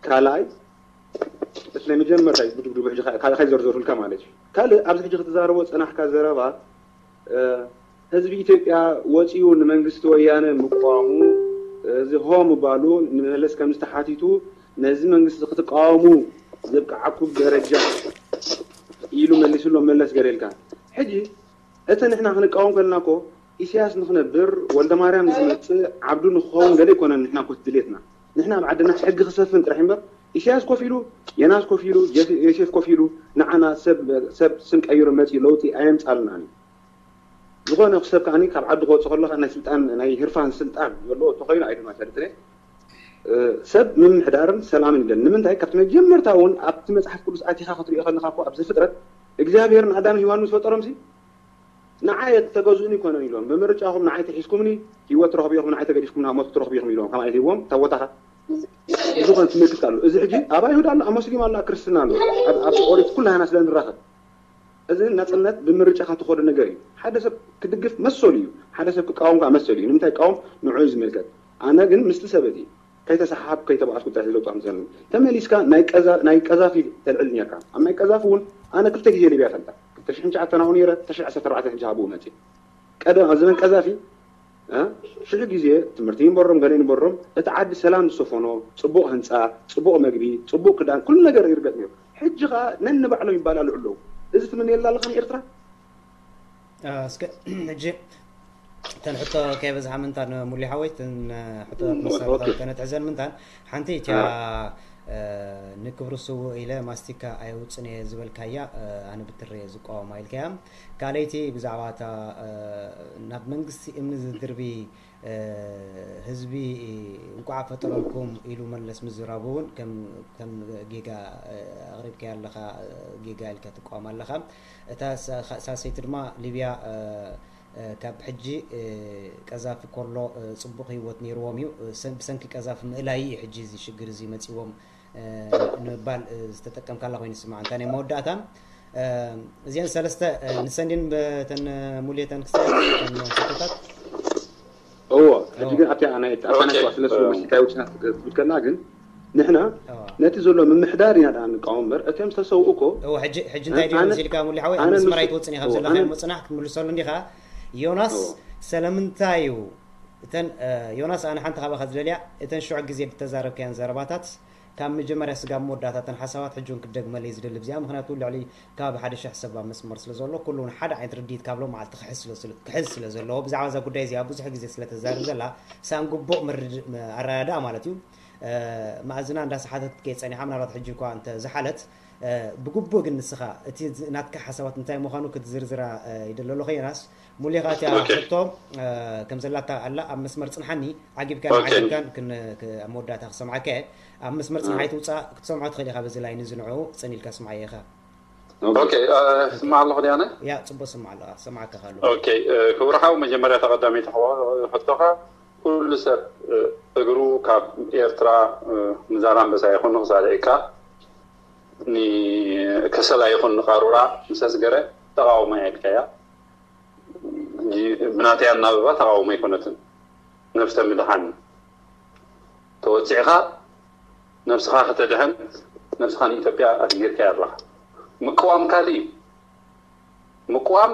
ካልኣይ እቲ ናይ መጀመርታ እዩ ድብድቡ ሕጂ ካልእ ከይዘርዘርኩልካ ማለት እዩ ካልእ ኣብዚ ሕጂ ክትዛረቦ ዝፀናሕካ ዘረባ ህዝቢ ኢትዮጵያ ወፂኡ ንመንግስቲ ወያነ ምቋሙ እዚ ሆ ምባሉ ንመለስ ከምዝተሓቲቱ ነዚ መንግስቲ ክትቃወሙ ዘብቅዓኩም ደረጃ ኢሉ መሊስሎም መለስ ገለ ኢልካ ሕጂ እቲ ንሕና ክንቃወም ከለና እኮ ኢሳያስ ንክነብር ወልደማርያም ንክመፅእ ዓብዱ ንክኸውን ገለ ኣይኮነን ንሕና ኮት ድሌትና ንሕና ኣብ ዓድና ሕጊ ክሰፍን ጥራሕ እምበር ኢሳያስ ኮፍ ኢሉ የናስ ኮፍ ኢሉ ዮሴፍ ኮፍ ኢሉ ንዓና ሰብ ሰብ ስም ቀይሩ መፂኡ ለውጢ ኣየምፃልናን እዩ ዝኾነ ሰብ ከዓኒ ካብ ዓዲ ክወፅእ ከሎ ናይ ስልጣን ናይ ህርፋን ስልጣን ዘለዎ ተኮይኑ ኣይድማ ፈልጥነ ሰብ ምምሕዳርን ሰላምን ይደል ንምንታይ ካብቲ መጀመርታ እውን ኣብቲ መፅሓፍ ቅዱስ ኣቲኻ ክትሪኦ ከለካ እኮ ኣብዚ ፍጥረት እግዚኣብሔርን ኣዳም ሂዋን ምስ ፈጠሮም ሲ ንዓይ ተገዝኡኒ ይኮነን ኢሎም ብምርጫኹም ንዓይ ተሒዝኩምኒ ህይወት ትረኽቡ ኢኹም ንዓይ ተገዲፍኩም ናብ ሞት ክትረኽቡ ኢኹም ኢሎም ከም ኣይትህዎም ታቦታኻ ዝኾነ ትምልክት ኣሎ እዚ ሕጂ ኣብ ኣይሁድ ኣሎ ኣብ መስሊም ኣሎ ኣብ ክርስትና ኣሎ ኣብ ኦሪት ኩላህና ስለ ንራኸብ እዚ ናፅነት ብምርጫኻ ትኸዶ ነገር እዩ ሓደ ሰብ ክድግፍ መሰሉ እዩ ሓደ ሰብ ክቃወም ከዓ መሰሉ እዩ ንምንታይ ቃወም ንዑ እዩ ዝምልከት ኣነ ግን ምስቲ ሰበት እዩ ከይተሰሓሓብ ከይተባኣስኩ ጥራሕ ዝለውጥ ኣምሰል ተመሊስካ ናይ ቀዛፊ ተልዕል ነርካ ኣብ ናይ ቀዛፊ እውን ኣነ ክልተ ግዜ ሊብያ ፈልጣ ክልተ ሽሕን ትሽዓተን ኣብኡ ነይረ ክልተ ሽሕን ዓሰርተ ኣርባዕተን ሕጂ ኣብኡ መፅእ ቀደም ኣብ ዘመን ቀዛፊ እ? ሽሕ ግዜ ትምህርቲ ይንበሮም ገለ ይንበሮም፣ እቲ ዓዲ ሰላም ዝሰፈኖ፣ ጽቡቕ ህንጻ፣ ጽቡቕ መግቢ፣ ጽቡቕ ክዳን፣ ኩሉ ነገር ይርገጥ ነይሩ። ሕጂ ኸኣ ነንባዕሎም ይባላልዑ ኣለዉ። እዚ ትምነየላ ኣለኻ ንኤርትራ? እስከ ሕጂ እተን ሕቶ ከይበዝሓ ምንታን ሙሊ ሓወይ እተን ሕቶታት መሳርታ ከነትሕዘን ምንታን ሓንቲ እቲያ ንክብሩ ስውእ ኢለ ማስቲካ ኣየውፅን እየ ዝበልካያ ኣነ ብትሪ እየ ዝቃወማ ኢልካያ። ካልኣይቲ ብዛዕባ እታ ናብ መንግስቲ እምኒ ዝድርቢ ህዝቢ እንቋዕ ፈጠረልኩም ኢሉ መለስ ምዝራቡ እውን ከም ጌጋ ኣቕሪብካያ ኣለኻ። ጌጋ ኢልካ ትቃወም ኣለኻ። እታ ሳሰይቲ ድማ ሊብያ ካብ ሕጂ ቀዛፊ ኮሎ ፅቡቕ ህይወት ነይርዎም እዩ። ብሰንኪ ቀዛፊ ምእላይ እዩ ሕጂ እዚ ሽግር እዚ መፂዎም ንምባል ዝተጠቀምካላ ኮይኑ ስማዕ። እንታይ ናይ መወዳእታ እዚአን ሰለስተ ንሰንዲን በተን ሙሌተን ክሳብ ሕቶታት እዎ ሕጂ ግን ኣብቲ ናይ ኣፋናት ስለ ስለ መሲልካ ውፅና ክትብል ከላ ግን ንሕና ነቲ ዘሎ ምምሕዳር ኢና ደኣ ንቃወም እምበር እቶም ዝተሰውኡ እኮ ሕጂ እንታይ ድዩ መሲልካ ሙሊ ሓወይ ኣብ መስመር ኣይትወፅን ኢኻ ዘለኻ ምፅናሕ ክትምልሰሉ እንዲኻ። ዮናስ ሰለምንታይ እዩ እተን ዮናስ ኣነ ሓንቲ ካባኻ ዝደልያ እተን ሽዑ ግዜ ዝተዛረብካያን ዘረባታት ካብ መጀመርያ ስጋብ መወዳእታ እተን ሓሳባት ሕጂ እውን ክደግመለይ ዝደሊ ብዚኣ ምክንያቱ ልዕሊ ከባቢ ሓደ ሽሕ ሰብ ኣብ መስመር ስለ ዘሎ ኩሉ እውን ሓደ ዓይነት ርድኢት ካብ ሎም መዓልቲ ክሕዝ ስለ ዘለዎ ብዛዕባ እዛ ጉዳይ እዚኣ ብዙሕ ግዜ ስለ ተዛርብ ዘላ ሳን ግቡእ ኣረዳድኣ ማለት እዩ። መኣዝና እንዳሰሓተት ከይፀኒሓ ምናልባት ሕጂ እኳ እንተ ዝሓለት ብግቡእ ግን ንስኻ እቲ ናትካ ሓሳባት እንታይ ምዃኑ ክትዝርዝራ ይደለሎ ከየናስ ሙሌኻ እቲያ ሕቶ ከም ዘላታ ኣላ ኣብ መስመር ፅንሓኒ ዓጊብካን ዓጊብካን ኣብ መወዳእታ ክሰምዓካ እየ። ኣብ መስመር ፅንሓ ኣይትውፃእ ክትሰምዖ ትኽእል ኢኻ በዚ ላይን እዚ ንዑ ፅን ኢልካ ስምዓዮ ኢኻ። ኦኬ ስማዕ ኣለኹ ድያነ? ያ ፅቡቅ ስማዕ ኣለኻ ሰማዕካ ካሉ። ኦኬ ክቡር ሓው መጀመርያ ተቐዳሚት ሕቶኻ ኩሉ ሰብ እግሩ ካብ ኤርትራ ንዛላምበሳ ይኹን ንኽሳልዒካ ንከሰላ ይኹን ንቃሩራ ምስ ኣስገረ ተቓውሞ እያ ኢልካያ። ብናተይ ኣናብባ ተቓውሞ ኣይኮነትን። ነብሰ ምድሓን ተወፂዕኻ ነብስኻ ከተድሕን ነብስኻ ንኢትዮጵያ ኣስጊርካያ ኣለኻ። ምቅዋም ካልእ እዩ። ምቅዋም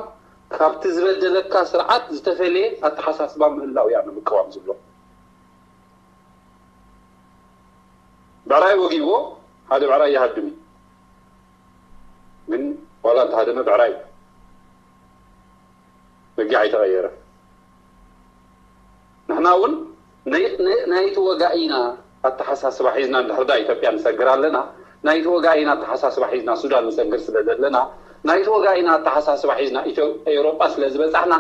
ካብቲ ዝበደለካ ስርዓት ዝተፈለየ ኣተሓሳስባ ምህላው እያ ንምቅዋም ዝብሎ። ብዕራይ ወጊእዎ ሓደ ብዕራይ ይሃድም እዩ። ግን ዋላ እንተሃደመ ብዕራይ እዩ። በጊዕ ኣይተቐየረ። ንሕና እውን ናይ ተወጋኢና ኣተሓሳስባ ሒዝና እንድሕር ዳ ኢትዮጵያ ንሰግር ኣለና ናይ ተወጋኢና ኣተሓሳስባ ሒዝና ሱዳን ንሰግር ስለ ዘለና ናይ ተወጋኢና ኣተሓሳስባ ሒዝና ኤውሮጳ ስለ ዝበፃሕና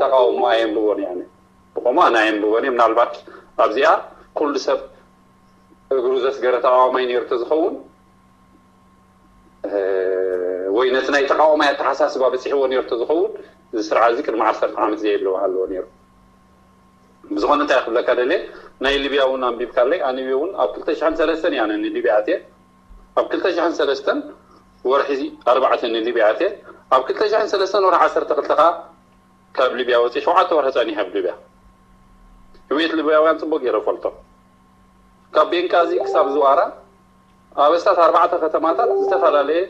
ተቃውሞ ኣየንብቦን እየ። ብቆሞ ኣነ ኣየንብቦን እየ ምናልባት ኣብዚኣ ኩሉ ሰብ እግሩ ዘስገረ ተቃዋማይ ነይሩ ተዝኸውን ወይ ነቲ ናይ ተቃዋማይ ኣተሓሳስባ በፂሕዎ ነይሩ ተዝኸውን እዚ ስርዓት እዚ ቅድሚ ዓሰርተ ዓመት ዘየለዎ ሃለዎ ነይሩ። ብዝኾነ እንታይ ክብለካ ደልየ ናይ ሊብያ እውን ኣንቢብካለይ ኣነ እውን ኣብ ክልተ ሽሕን ሰለስተን እያ ንሊብያ ኣትየ ኣብ ክልተ ሽሕን ሰለስተን ወርሒ ኣርባዕተ ንሊብያ ኣትየ ኣብ ክልተ ሽሕን ሰለስተን ወርሒ ዓሰርተ ክልተ ከዓ ካብ ሊብያ ወፂ ሸውዓተ ወርሒ ፀኒሐ ኣብ ሊብያ ህውየት ሊብያውያን ፅቡቅ ገይረ ፈልጦ ካብ ቤንቃዚ ክሳብ ዝዋራ ኣብ ኣስታት ኣርባዕተ ከተማታት ዝተፈላለየ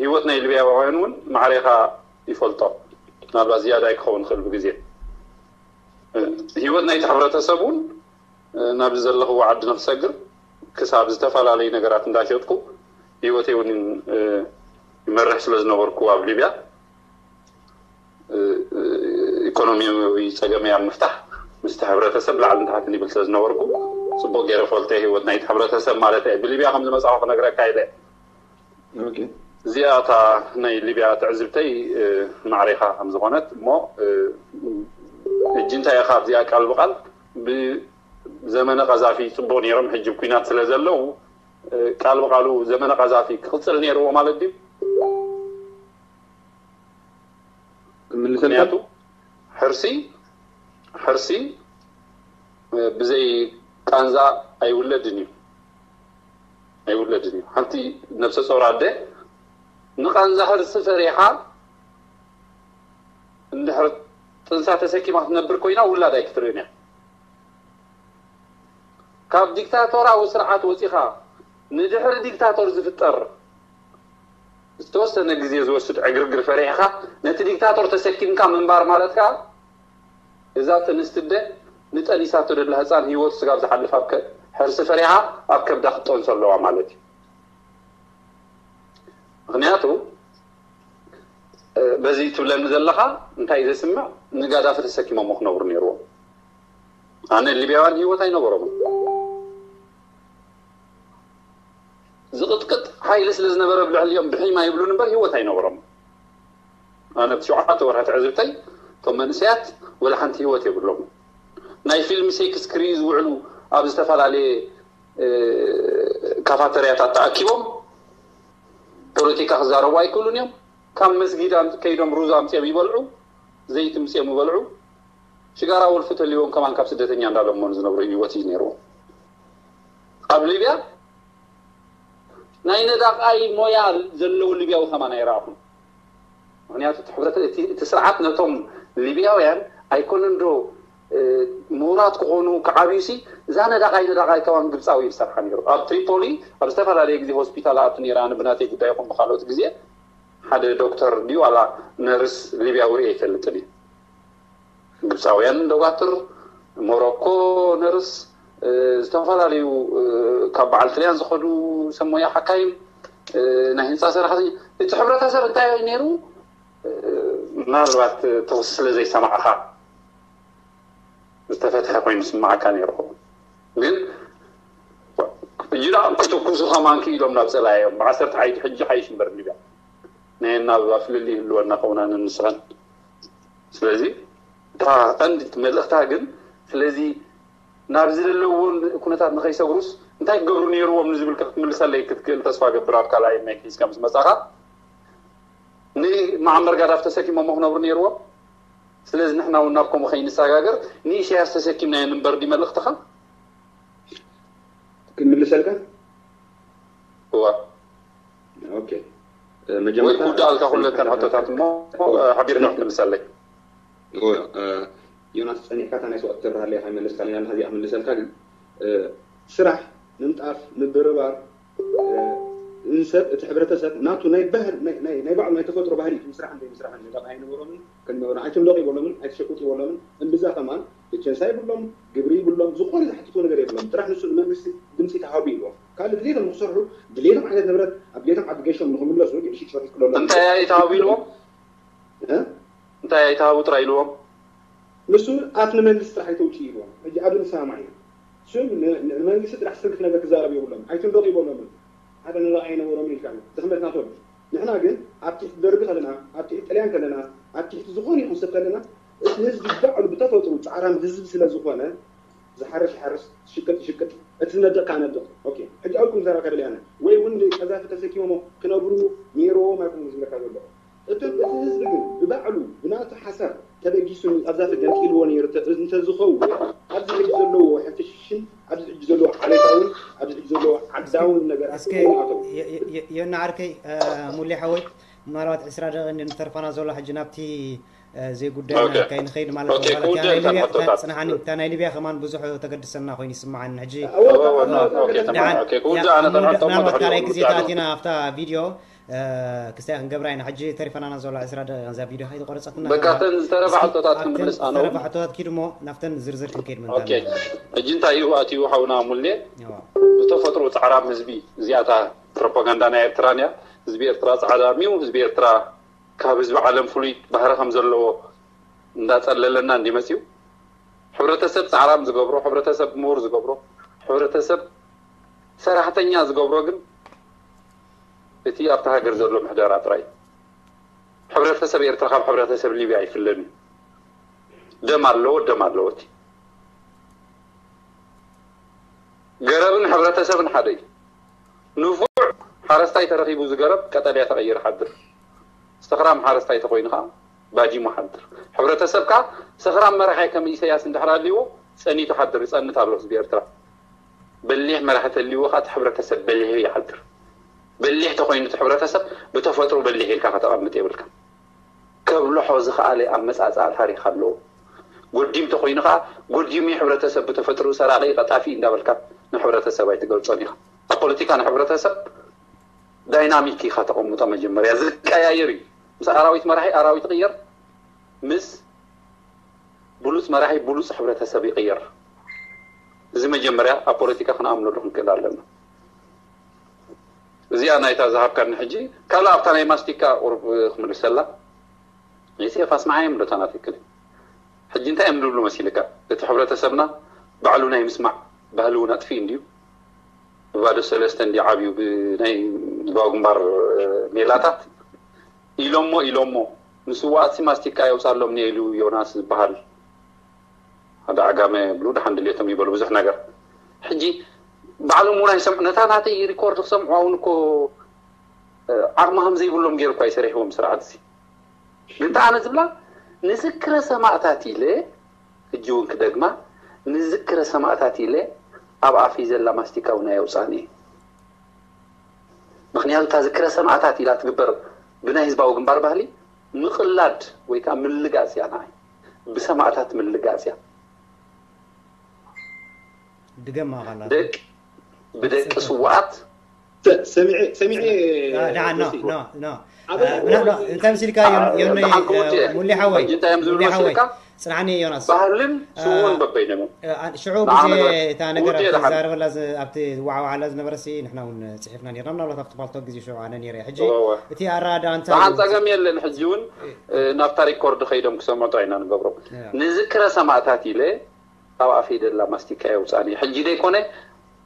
ህይወት ናይ ሊብያውያን እውን ማዕሬኻ ይፈልጦ። ምናልባት ዝያዳ ክኸውን ይኽእል ብግዜ ህይወት ናይቲ ሕብረተሰብ እውን ናብዚ ዘለኽዎ ዓዲ ንክሰግር ክሳብ ዝተፈላለዩ ነገራት እንዳሸጥኩ ህይወተይ እውን ይመርሕ ስለ ዝነበርኩ ኣብ ሊብያ ኢኮኖሚያዊ ፀገመይ ኣብ ምፍታሕ ምስቲ ሕብረተሰብ ላዕልን ታሕትን ይብል ስለ ዝነበርኩ ፅቡቅ ገይረ ፈልጠ ህይወት ናይቲ ሕብረተሰብ ማለት እየ ብሊብያ ከም ዝመፃኹ ክነግረካ ኢለ እዚኣ እታ ናይ ሊብያ ትዕዝብተይ ማዕሬኻ ከም ዝኾነት እሞ ሕጂ እንታይ ኢኻ ኣብዚኣ ቃል ብቃል ብዘመነ ቀዛፊ ፅቡቅ ነይሮም ሕጂ ኩናት ስለ ዘለዉ ቃል ብቃሉ ዘመነ ቀዛፊ ክቅፅል ነይርዎ ማለት ድዩ? ምልሰልካ ምክንያቱ ሕርሲ ሕርሲ ብዘይ ቃንዛ ኣይውለድን እዩ ኣይውለድን እዩ ሓንቲ ነብሰ ጾር ኣደ ንቃንዛ ሕርሲ ፈሪሓ እንድሕር ጥንሳ ተሰኪማ ክትነብር ኮይና ውላድ ኣይክትርእን እያ ካብ ዲክታቶራዊ ስርዓት ወፂኻ ንድሕሪ ዲክታቶር ዝፍጠር ዝተወሰነ ግዜ ዝወስድ ዕግርግር ፈሪሕኻ ነቲ ዲክታቶር ተሰኪምካ ምንባር ማለት ከዓ እዛ ጥንስቲ ኣደ ንጠኒሳቶ ደላ ህፃን ህይወቱ ስጋብ ዝሓልፍ ኣብ ከ- ሕርሲ ፈሪሓ ኣብ ከብዳ ክትጠንሶ ኣለዋ ማለት እዩ። ምክንያቱ እ፣ በዚ ትብለኒ ዘለኻ እንታይ እዩ ዘስምዕ? ንጋዳፊ ተሰኪሞሞ ክነብሩ ነይርዎም። ኣነ ሊብያውያን ህይወት ኣይነበሮምን። ዝቕጥቅጥ ሓይሊ ስለ ዝነበረ ብልዕሊኦም ብሒማ ይብሉን እምበር ህይወት ኣይነበሮምን። ኣነ ብቲ ሸውዓተ ወርሒ ትዕዝብተይ እቶም መንእሰያት ወላ ሓንቲ ህይወት የብሎምን። ናይ ፊልም ሴክስ ክርእዩ ዝውዕሉ ኣብ ዝተፈላለየ እ፣ ካፋተርያታት ተኣኪቦም ፖለቲካ ክዛረቡ ኣይክእሉን እዮም። ካብ መስጊድ ኣም- ከይዶም ሩዝ ኣምፅኦም ይበልዑ፣ ዘይቲ ምፅኦም ይበልዑ። ሽጋራ ወልፊ ተልዎም ከማን ካብ ስደተኛ እንዳለመኑ ዝነብሩ ህይወት እዩ ነይርዎም። ኣብ ሊብያ ናይ ነዳቓይ ሞያ ዘለዎ ሊብያዊ ከማን ኣይረኣኹን። ምክንያቱ እቲ ሕብረተ- እቲ እቲ ስርዓት ነቶም ሊብያውያን ኣይኮነን ዶ እ፣ ምሁራት ክኾኑ ክዓብዩ ሲ እዛ ነዳቓይ ነዳቓይ ከማን ግብፃዊ እዩ ዝሰርሓ ነይሩ። ኣብ ትሪፖሊ ኣብ ዝተፈላለየ ግዜ ሆስፒታል ኣቱ ነይራ። ኣነ ብናተይ ጉዳይ ይኹን ብካልኦት ግዜ ሓደ ዶክተር ድዩ ዋላ ነርስ ሊብያዊ ርእየ ኣይፈልጥን እየ። ግብፃውያን ዶጋትር፣ ሞሮኮ ነርስ፣ እ፣ ዝተፈላለዩ እ፣ ካብ በዓል ጥልያን ዝኸዱ ሰብ ሞያ ሓካይም፣ እ፣ ናይ ህንፃ ሰራሕተኛ። እቲ ሕብረተሰብ እንታይ እዩ ነይሩ? እ፣ ምናልባት ተወስ ስለ ዘይሰማዕኻ ዝተፈትሐ ኮይኑ ስማዓካ ነይሩ። ግን እጅዳ ክትኩሱ ከማን ክኢሎም ናብ ፀላዮም ብዓሰርተ ሓይቱ ሕጂ ሓይሽ እምበር ሊብያ ናይ ናብ ፍልልይ ይህልወና ከውና ንንስኸን። ስለዚ እታ ቀንዲ መልእኽታ ግን ስለዚ ናብዚ ዘለዎም ኩነታት ንኸይሰግሩስ እንታይ ክገብሩ ነይርዎም ንዝብል ክትምልሰለይ ክትክእል ተስፋ ገብር። ኣብ ካልኣይ ናይ ሒዝካ ምስ መጻኻ ንማዕመር ጋዳፍ ተሰኪሞሞ ክነብሩ ነይርዎም። ስለዚ ንሕና እውን ናብ ከምኡ ከይንሰጋገር ንኢሳያስ ተሰኪምናዮ ንንበር ድዩ መልእኽትኻ? ክምልሰልካ እዋ ኦኬ መጀመርታ ክውዳእልካ ኩለተን ሕቶታት እሞ ሓቢርካ ክትምልሰለይ። ዮናስ ጸኒሕካ እታ ናይ ሰውኣት ተብርሃለይ ከይመለስካ ሌላ ናዚኣ ክምልሰልካ ግን ስራሕ ምንጣፍ ምብርባር ንሰብ እቲ ሕብረተሰብ ናቱ ናይ ባህል ናይ ባዕሉ ናይ ተፈጥሮ ባህሊ ምስራሕን ዘይምስራሕን ነዛ ኣይነበሮምን ከነበሮን ኣይትንደቑ ይበሎምን ኣይትሸቁጡ ይበሎምን እምብዛ ከማን ብቸንሳ ይብሎም ግብሪ ይብሎም ዝኾነ ዝሓትትዎ ነገር የብሎም ጥራሕ ንሱ ንመንግስቲ ድምፂ ተሃቡ ይብሎም ካልእ ድሌቶም ንክሰርሑ ድሌቶም ዓይነት ንብረት ኣብ ድሌቶም ዓዲ ገሾም ንክምለሱ ሽጭ ክሎም እንታይ ኣይተሃቡ ኢልዎም እንታይ ኣይተሃቡ ጥራይ ኢልዎም ንሱ ኣፍ ንመንግስቲ ጥራሕ ኣይተውፅኡ ኢልዎም ሕጂ ኣብዚ ንሰማማዕ ኢና ስም ንመንግስቲ ጥራሕ ስልክ ነገር ክዛረብ የብሎም ኣይትንደቑ ይበሎምን ሓደ ንረኣ ኣይነበሮምን ኢልካ ድኽመት ናቶም ንሕና ግን ኣብ ትሕቲ ደርጊ ከለና ኣብ ትሕቲ ጥልያን ከለና ኣብ ትሕቲ ዝኾነ ይኹን ሰብ ከለና እቲ ህዝቢ ባዕሉ ብተፈጥሩ ፃዕራም ህዝቢ ስለ ዝኾነ ዝሓርስ ይሓርስ ዝሽቅጥ ይሽቅጥ እቲ ዝነድቕ ከዓ ነድቕ ኦኬ ሕጂ ኣብኩም ዘረባ ከብል ያነ ወይ እውን ቀዛፊ ተሰኪሞሞ ክነብሩ ነይርዎም ኣይኮኑ ዝብለካ ዘሎ እቶም እቲ ህዝቢ ግን ብባዕሉ ብናቱ ሓሳብ ተበጊሱ ንቐዛፊ ገንጢልዎ ነይሩ እንተዝኸውን ኣብዚ ሕጂ ዘለዎ ሕፍሽን ኣብዚ ሕጂ ዘለዎ ዓሌታውን ኣብዚ ሕጂ ዘለዎ ዓዳውን ነገር እስከ ዮና ዓርከይ ሙሌ ሓወይ ምናልባት ዕስራ ደቂቕ እንተርፋና ዘሎ ሕጂ ናብቲ ዘይጉዳይና ከይንኸይድ ማለት ጽንሓኒ እታ ናይ ሊብያ ከማን ብዙሕ ተገድሰና ኮይኑ ይስምዓኒ ሕጂ ምናልባት ካልኣይ ግዜ ተኣቲና ኣብታ ቪድዮ ክስታይ ክንገብራ ኢና ሕጂ ተሪፈናና ዘሎ ዕስራ ደቂቕ እዛ ቪድዮ ከይተቆረፀትና በቃ እተን ዝተረፋ ሕቶታት ክንምልስ ኣነ እውን ተረፋ ሕቶታት ኪድ እሞ ናብተን ዝርዝር ክንከይድ ኦኬ ሕጂ እንታይ እዩ ኣትዩ ሓውና ሙሌ ብተፈጥሮ ፃዕራም ህዝቢ እዚኣታ ፕሮፓጋንዳ ናይ ኤርትራን እያ ህዝቢ ኤርትራ ፃዕራም እዩ ህዝቢ ኤርትራ ካብ ህዝቢ ዓለም ፍሉይ ባህሪ ከም ዘለዎ እንዳፀለለና እንዲ መፅዩ ሕብረተሰብ ፃዕራም ዝገብሮ ሕብረተሰብ ምሁር ዝገብሮ ሕብረተሰብ ሰራሕተኛ ዝገብሮ ግን እቲ ኣብቲ ሃገር ዘሎ ምሕደራ ጥራይ ሕብረተሰብ ኤርትራ ካብ ሕብረተሰብ ሊብያ ኣይፍለን እዩ ደም ኣለዎ ደም ኣለዎ እቲ ገረብን ሕብረተሰብን ሓደ እዩ ንፉዕ ሓረስታይ ተረኺቡ ዝገረብ ቀጠልያ ተቐይር ሓድር ሰኽራም ሓረስታይ ተኾይኑ ከዓ ባጂሙ ሓድር ሕብረተሰብካ ሰኽራም መራሒ ከም ኢሰያስ እንድሕር ኣልዎ ጸኒቱ ሓድር ይጸንት ኣሎ ህዝቢ ኤርትራ በሊሕ መራሒ ተልዎ ከዓ እቲ ሕብረተሰብ በሊሑ ይሓድር በሊሕ ተኾይኑ እቲ ሕብረተሰብ ብተፈጥሮ በሊሕ ኢልካ ከተቐምጥ የብልካ ከብልሖ ዝኸኣለ ኣመጻጽኣ ታሪኽ ኣለዎ ጎዲም ተኾይኑ ከዓ ጎዲም እዩ ሕብረተሰብ ብተፈጥሮ ሰራቂ ቀጣፊ እንዳበልካ ንሕብረተሰብ ኣይትገልጾን ኢኻ ኣብ ፖለቲካ ንሕብረተሰብ ዳይናሚክ ኢኻ ተቐምጦ መጀመርያ ዝቀያየር እዩ ምስ ኣራዊት መራሒ ኣራዊት ይቕየር ምስ ብሉፅ መራሒ ብሉፅ ሕብረተሰብ ይቕየር። እዚ መጀመርያ ኣብ ፖለቲካ ክንኣምነሉ ክንክእል ኣለና። እዚኣ ናይታ ዝሃብካኒ። ሕጂ ካልእ ኣብታ ናይ ማስቲካ ቁሩብ ክምልሰላ። ዮሴፍ ኣስማዓዮም ዶ ታና ትክክል? ሕጂ እንታይ እዮም ዝብሉ መሲልካ? እቲ ሕብረተሰብና ባዕሉ ናይ ምስማዕ ባህሊ እውን ኣጥፊኡ እንድዩ። ብባዶ ሰለስተ እንዲ ዓብዩ ብናይ ህዝባዊ ግንባር ሜላታት ኢሎሞ ኢሎሞ ንስዋኣትሲ ማስቲካ የውፃሎም ኢሉ ዮናስ ዝበሃል ሓደ ዓጋመ ብሉ ደሓን ድሌቶም ይበሉ ብዙሕ ነገር። ሕጂ ባዕሎም እውን ኣይሰምዑ። ነታ ናተይ ሪኮርድ ክሰምዑ እውን እኮ ዓቕሚ ከም ዘይብሎም ገይሩ እኳ ይሰሪሕዎም ስርዓት እዚ። ግን ኣነ ዝብላ ንዝክረ ሰማእታት ኢለ፣ ሕጂ እውን ክደግማ፣ ንዝክረ ሰማእታት ኢለ ኣብ ኣፈይ ዘላ ማስቲካ እውን ኣየውፃን እየ። ምክንያቱ እታ ዝክረ ሰማእታት ኢላ ትግበር ብናይ ህዝባዊ ግንባር ባህሊ ምቕላድ ወይ ከዓ ምልጋፅ እያ። ንዓይ ብሰማእታት ምልጋጽ እያ። ድገማ ካላ ደቂ ብደቂ ስዋኣት ሰሚዐ ሰሚዐ ደዓ ኖ ኖ ኖ ኣበይ ኖ ኖ እንታይ ምስልካ ዮኒ ደሓን ክወዲ እየ። ሙሊ ሓወይ ሕጂ እንታይ እዮም ዝብሉ ሙሊ ሓወይ መሲልካ? ፅናኒ ዮናስ ባህልን ስውን አ- በበይኖም እዮም። አ- ሽዑ ንዓ ግዜ ነገር እታ ነገር ውድእ ደሓን። ትዛረበላ ዝ- ኣብቲ ዝወዓዋዓላ ዝነበረ ሲ ንሕና እውን ፅሒፍና ነርና ምናልባት ኣብቲ ፓልቶክ ግዜ ሽዑ ኣነ ነይረ ሕጂ እወ። እቲ ኣረዳዳ እንታይ ደሓን እዩ? ፀገም የለን። ሕጂ እውን እ፣ ናብታ ሪኮርድ ከይዶም ክሰምዑ ጥራይ ኢና ንገብሮም። ያ። ንዝክረ ሰማእታት ኢለ ካብ ኣፈይ ደላ ማስቲካ የውፃኒ። ሕጂ ደይኮነ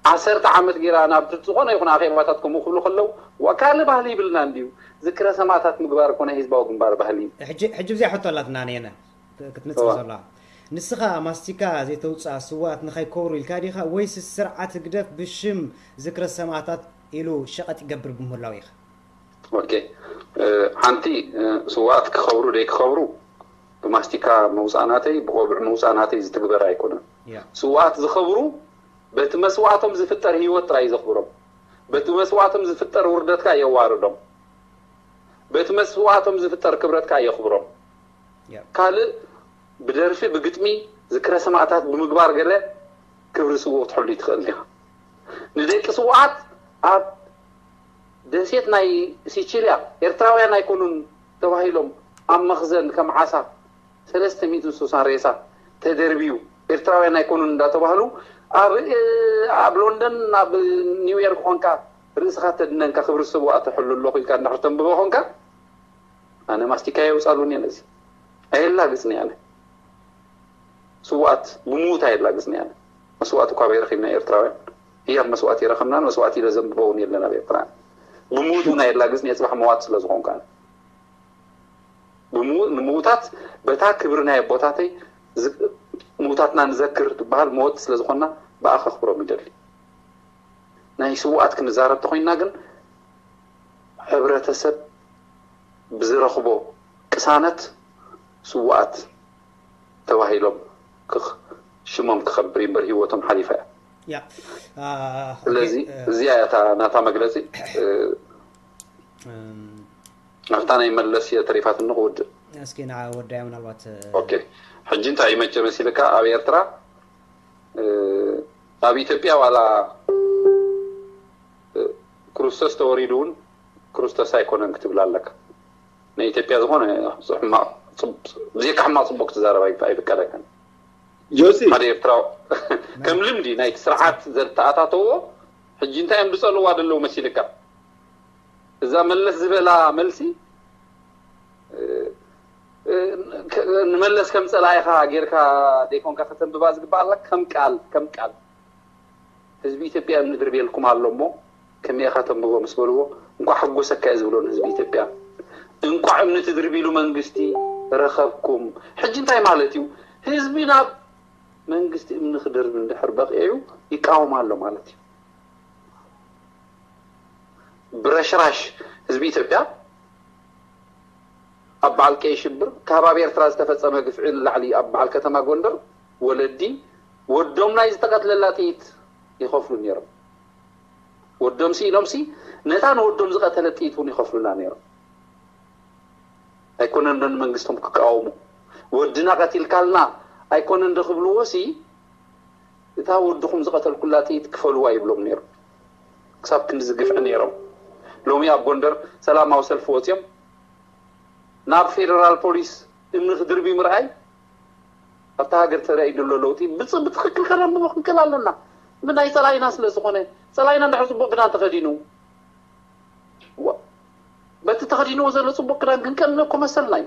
ዓሰርተ ዓመት ገይራ ናብ ዝኾነ ይኹን ኣኼባታት ከምኡ ክብሉ ከለዉ ዋ ካልእ ባህሊ ይብልና እንድዩ ዝክረ ሰማእታት ምግባር እኮ ናይ ህዝባዊ ግንባር ባህሊ እዩ። ሕጂ ሕጂ ብዚኣ ሕቶ ኣላትና ነየነ ክትመፅእ እዋ። ዘላ ንስኻ ማስቲካ ዘይተውፅኣ ስዋኣት ንኸይከብሩ ኢልካ ዲኻ ወይስ ስርዓት ህግደፍ ብሽም ዝክረ ሰማእታት ኢሉ ሸቐጥ ይገብር ብምህላው ኢኻ ኦኬ እ፣ ሓንቲ እ፣ ስዋኣት ክኸብሩ ደይክኸብሩ ብማስቲካ ምውፃእ ናተይ ብቆብዕ ምውፃእ ናተይ ዝትግበር ኣይኮነን። ያ ስዋኣት ዝኸብሩ በቲ መስዋእቶም ዝፍጠር ህይወት ጥራይ ዘኽብሮም። በቲ መስዋእቶም ዝፍጠር ውርደት ከኣ የዋርዶም። በቲ መስዋእቶም ዝፍጠር ክብረት ከኣ የኽብሮም። ያ ካልእ ብደርፊ ብግጥሚ ዝክረ ሰማእታት ብምግባር ገለ ክብሪ ስውእ ክትሕሉ ትኽእል ዲኻ? ንደቂ ስውኣት ኣብ ደሴት ናይ ሲቺልያ ኤርትራውያን ኣይኮኑን ተባሂሎም ኣብ መኽዘን ከም ዓሳ ሰለስተ ሚእትን ስሳን ሬሳ ተደርብዩ ኤርትራውያን ኣይኮኑን እንዳተባህሉ ኣብ እ፣ ኣብ ሎንደን ኣብ ኒውዮርክ ኮንካ ርእስኻ ተድነንካ ክብሪ ስውኣት ተሕሉ ኣለኹ ኢልካ እንድሕር ተንብቦ ኮንካ ኣነ ማስቲካ የውፃሉን እየ ነዚ ኣየላግፅን እየ ኣነ ስውኣት ብሙት ኣየላግፅን እየ ኣነ መስዋእት እኳ በይረኺብና ኤርትራውያን ህያብ መስዋእት ይረኸብናን መስዋእት ኢለ ዘንብቦ እውን የለን ኣብ ኤርትራ ብሙት እውን ኣየላግፅን እየ ፅባሕ መዋት ስለ ዝኾንኩ ኣነ ብሙ- ንምውታት በታ ክብሪ ናይ ኣቦታተይ ዝ- ምውታትና ንዘክር ዝበሃል መወት ስለ ዝኾንና ብኣ ከኽብሮም ይደሊ ናይ ስውኣት ክንዛረብ ተኮይንና ግን ሕብረተሰብ ብዝረኽቦ ቅሳነት ስውኣት ተባሂሎም ክኽ- ሽሞም ክኸብር እምበር ህይወቶም ሓሊፋ እያ ያ አ፣ ስለዚ ኦኬ፣ እ፣ እዚኣ እያ እታ ናታ መግለፂ እ፣ እም፣ ኣብታ ናይ መለስ እየ ተሪፋትኒ ክውድእ እስኪ ንዓ ወዳያ ምናልባት እ፣ ኦኬ ሕጂ እንታይ መቸ መሲልካ ኣብ ኤርትራ እ፣ ኣብ ኢትዮጵያ ዋላ እ፣ ክርስቶስ ተወሪዱ እውን ክርስቶስ ኣይኮነን ክትብል ኣለካ ናይ ኢትዮጵያ ዝኾነ ሕማቕ ጽብ- ብዘይካ ሕማቕ ፅቡቅ ክትዛረብ ኣይፍ- ኣይፍቀደካን ጆሲ ሓደ ኤርትራዊ ከም ልምዲ ናይቲ ስርዓት ዘተኣታተዎ ሕጂ እንታይ እዮም ዝፀልዋ ዘለዉ መሲልካ እዛ መለስ ዝበላ መልሲ እ፣ እ፣ ከ- ንመለስ ከም ፀላኢኻ ጌርካ ደይኮንካ ከተንብባ ዝግባኣላ ከም ቃል ከም ቃል ህዝቢ ኢትዮጵያ እምኒ ድርብየልኩም ኣሎ እሞ ከመይ ኢኻ ተንብቦ ምስ በልዎ እንኳዕ ሓጎሰካ እየ ዝብሎ ንህዝቢ ኢትዮጵያ እንኳዕ እምኒ ትድርብሉ መንግስቲ ረኸብኩም ሕጂ እንታይ ማለት እዩ ህዝቢ ናብ መንግስቲ እምኒ ክድርብ እንድሕር በቂዑ ይቃወም ኣሎ ማለት እዩ ብረሽራሽ ህዝቢ ኢትዮጵያ ኣብ በዓል ቀይ ሽብር ካብ ኣብ ኤርትራ ዝተፈፀመ ግፍዒ ንላዕሊ ኣብ በዓል ከተማ ጎንደር ወለዲ ወዶም ናይ ዝተቐትለላ ጥይት ይኸፍሉ ነይሮም ወዶም ሲ ኢሎም ሲ ነታ ንወዶም ዝቐተለ ጥይት እውን ይኸፍሉና ነይሮም ኣይኮነን ዶ ንመንግስቶም ክቃወሙ ወድና ቀቲልካልና ኣይኮነን ዶ ክብልዎ ሲ እታ ወድኹም ዝቐተልኩላ ጥይት ክፈልዋ ይብሎም ነይሩ ክሳብ ክንዲ ዝግፍዒ ነይሮም ሎሚ ኣብ ጎንደር ሰላማዊ ሰልፊ ወፂኦም ናብ ፌደራል ፖሊስ እምኒ ክድርቢ ምርኣይ ኣብታ ሃገር ተራእዩ ዘሎ ለውጢ ብትክክል ከነንብቦ ክንክእል ኣለና። ምናይ ፀላኢና ስለ ዝኾነ፣ ፀላኢና እንድሕር ፅቡቅ ክዳን ተኸዲኑ፣ በቲ ተኸዲንዎ ዘሎ ፅቡቅ ክዳን ክንቀንእ እኮ መሰልና እዩ።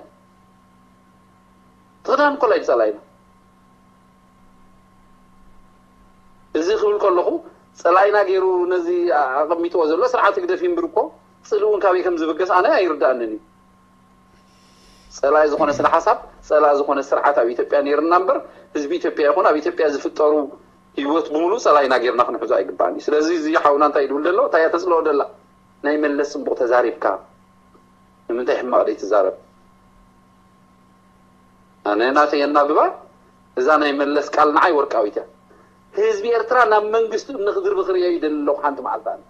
ትኽዳን እኮ ላይ ፀላኢና። እዚ ክብል ከለኹ ፀላኢና ገይሩ ነዚ ኣቐሚጥዎ ዘሎ ስርዓት ህግደፍ ይንብር እኮ፣ ፅልኡ እውን ካበይ ከም ዝብገስ ኣነ ኣይርዳእንን እዩ። ፀላኢ ዝኾነ ስነ ሓሳብ፣ ፀላኢ ዝኾነ ስርዓት ኣብ ኢትዮጵያ ነይርና እምበር፣ ህዝቢ ኢትዮጵያ ይኹን ኣብ ኢትዮጵያ ዝፍጠሩ ህይወት ብምሉ ፀላኢና ገይርና ክንሕዞ ኣይግባእን እዩ። ስለዚ እዚ ሓውና እንታይ ይድብል ዘሎ? እንታይ እያ ተፅልኦ ደላ? ናይ መለስ ፅቡቅ ተዛሪብካ፣ ንምንታይ ሕማቅ ደይ ትዛረብ? ኣነ ናተይ የናብባ። እዛ ናይ መለስ ቃል ንዓይ ወርቃዊት እያ። ህዝቢ ኤርትራ ናብ መንግስቲ እምኒ ክድርቢ ክርእዮ ይደሊ ኣለኹ። ሓንቲ መዓልቲ ኣነ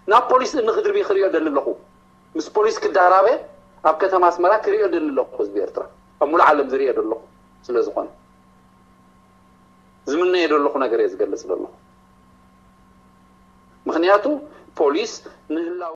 ናብ ፖሊስ እምኒ ክድርቢ ክርእዮ ደሊ ኣለኹ። ምስ ፖሊስ ክዳራበ ኣብ ከተማ ኣስመራ ክርእዮ ደሊ ኣለኹ። ህዝቢ ኤርትራ ኣብ ሙሉእ ዓለም ዝርእዮ ደለኹ። ስለ ዝኾነ ዝምነዮ ደለኹ ነገር እየ ዝገልጽ ደለኹ። ምኽንያቱ ፖሊስ ንህላው